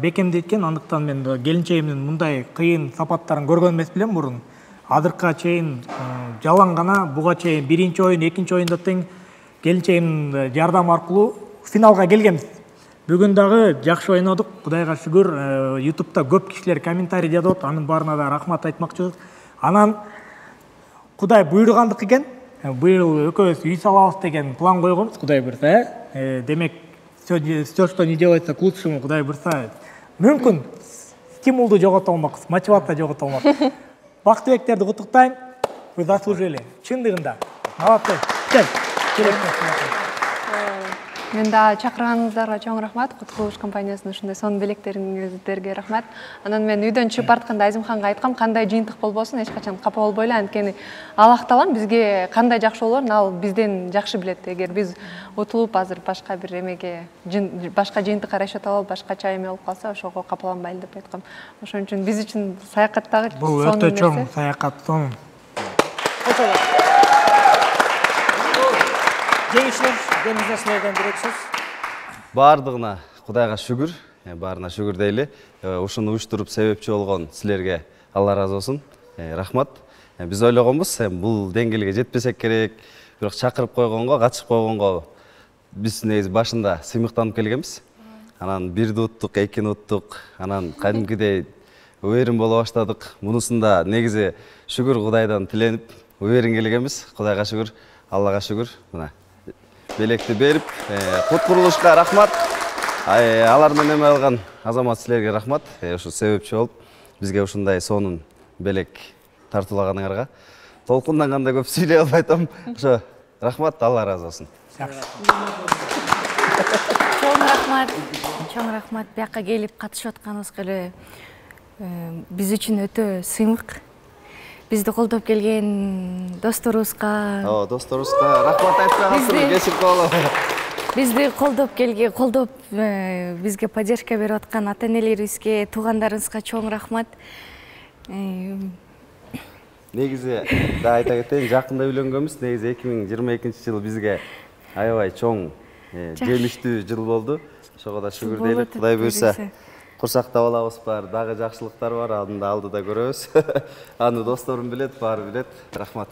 бекемдейт экен. Андыктан мен келинчегимдин мындай кыйын сапаттарын көргөн эмес билем мурун. Адыркка чейин жалаң гана, буга чейин биринчи оюн, экинчи оюнда тең келинчегимдин жардамы аркылуу финалга келгенбиз. Бүгүн дагы жакшы ойнодук. Кудайга шүгүр, YouTube'да көп кишилер комментарий жазып, анын баарына да рахмат айтмакчыбыз. Анан Кудай буйругандык экен. Быйыл экөөбүз үй салабыз деген план койгонбуз, Кудай буйрса. Демек, всё, что не делается к лучшему, Кудай буйрса, мүмкүн стимулду жогото алмакпыз, мотивация жогото алмакпыз. Бактыбектерди куттуктайм. Вы заслужили. Чындыгында. Молодцы. Мен да чакырганыңыздарга чоң рахмат. Кут курулуш компаниясынын ушундай сонун белектериңиздерге рахмат. Анан мен үйдөн чыгып баратканда Азимханга айткам, кандай жыйынтык болбосун, эч качан капа болбой эле, анткени Аллах-Таалам бизге кандай жакшы болорун ал бизден жакшы билет. Эгер биз утулуп азыр башка бир эмеге, башка жыйынтыкка расчет алып, башкача эме болуп калса, ошого капаланбайлы деп айткам. Ошон үчүн биз үчүн саякаттагы бул өтө чоң саякат, сонун. Жеңишler, келиңиздер силерден бир-эки сөз. Бардыгына Кудайга шүгүр, баарына шүгүр дейли. Ушуну уюштуруп себепчи болгон силерге Алла разы болсун. Рахмат. Биз ойлогонбуз, бул деңгээлге жетпесек керек, бирок чакырып койгонго, катышып койгонго биз негизи башында сыймыктанып келгенбиз. Анан бирди уттук, экини уттук, анан кадимкидей уверен боло баштадык. Мунусунда негизи шүгүр Кудайдан тиленип, уверен келгенбиз. Кудайга шүгүр, Аллага шүгүр. Мына белекти берип, кут курулушка рахмат. Алар менен эме алган азамат силерге рахмат. Ушу себепчи болуп, бизге ушундай сонун белек тартуулаганыңарга. Толкунданганда көп сүйлөй албай атам. Ошо рахмат, Алла разы болсун. Чоң рахмат бияка келип катышып атканыбызга эле биз үчүн өтө сыймык. Бизди колдоп келген досторубузга, рахмат айтып каласың, кечирип калалы. Бизди колдоп бизге поддержка берип аткан ата-энелерибизге, туугандарыбызга чоң рахмат. Негизи да айта кетейин, жакында үйлөнгөнбүз. Негизи 2022-жылы бизге аябай чоң жемиштүү жыл болду. Ошого да шүгүр дейли. Кудай буйрса, курсакта балабыз бар, дагы жакшылыктар бар, аны да алдыда көрөбүз. Аны досторум билет, баары билет. Рахмат.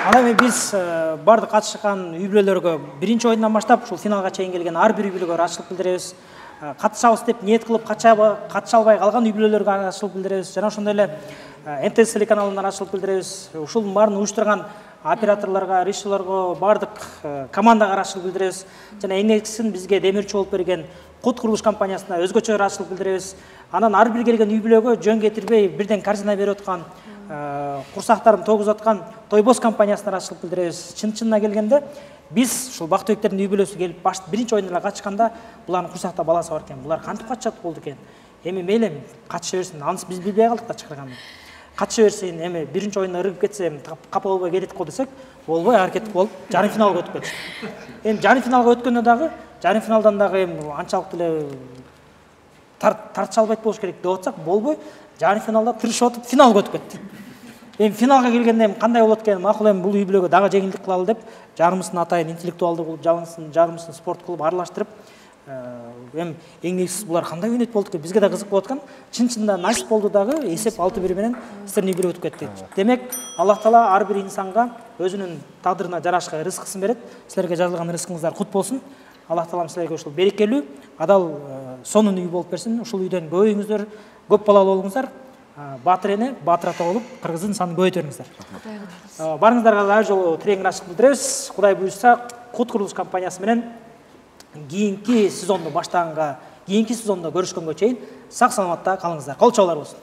Анан эми биз бардык катышкан үй бүлөлөргө биринчи оюндан баштап ушул финалга чейин келген ар бир үй бүлөгө ырайчылык билдиребиз. Катышабыз деп ниет кылып катыша албай калган үй бүлөлөргө ырайчылык билдиребиз. Жана ошондой эле МТС телеканалынан ырашчылык билдиребиз. Ушунун баарын уюштурган операторлорго, режиссерлорго, баардык командага ырашчылык билдиребиз. Жана эң негизгиси бизге демирчи болуп берген Кут курулуш компаниясына өзгөчө ырашчылык билдиребиз. Анан ар бир келген үй бүлөгө жөн кетирбей бирден корзина берип аткан, курсактарын тогузуп аткан Тойбос компаниясына ырашчылык билдиребиз. Чын-чынына келгенде биз ушул бактыбектердин үй бүлөсү келип биринчи оюндарга катышканда булардын курсакта баласы бар экен. Булар кантип катышат болду экен. Эми мейли катыша берсин. Анысы биз билбей калдык да чакырганды. Катыша берсин, эми биринчи оюнда ыргып кетсе, капа болбой кетип кал десек, болбой аракет болуп, жарым финалга өтүп кетти. Эми жарым финалга өткөндө дагы, жарым финалдан дагы эми анчалык деле тартыша албайт болуш керек деп атсак, болбой, жарым финалда тырышып атып финалга өтүп кетти. Эми финалга келгенде эми кандай болот экен, макул эми бул үй бүлөгө дагы жеңилдик кылалы деп, жарымысын атайын интеллектуалдуу кылып, жарымысын спорт кылып аралаштырып, эми эң негизгиси булар кандай ойнойт болду экен, бизге да кызык болуп аткан. Чын-чынында насип болду дагы, эсеп 6-1 менен сиздердин үй бүлө өтүп кетти. Демек, Аллах Таала ар бир инсанга өзүнүн тагдырына жарашка рызкысын берет. Силерге жазылган рызкыңыздар кут болсун. Аллах Таалам силерге ушул берекелүү, адал сонун үй болуп берсин. Ушул үйдөн көбөйүңүздөр, көп балалуу болуңуздар. Батыр эне, батыр ата болуп, кыргыздын санын көбөйтө бериңиздер. Барыңыздарга дагы жолу тирең ырашчылык билдиребиз. Кудай буйрса, Кут курулуш компаниясы менен кийинки сезонду баштаганга, кийинки сезондо көрүшкөнгө чейин сак саламатта калыңыздар. Кол чабуулар болсун.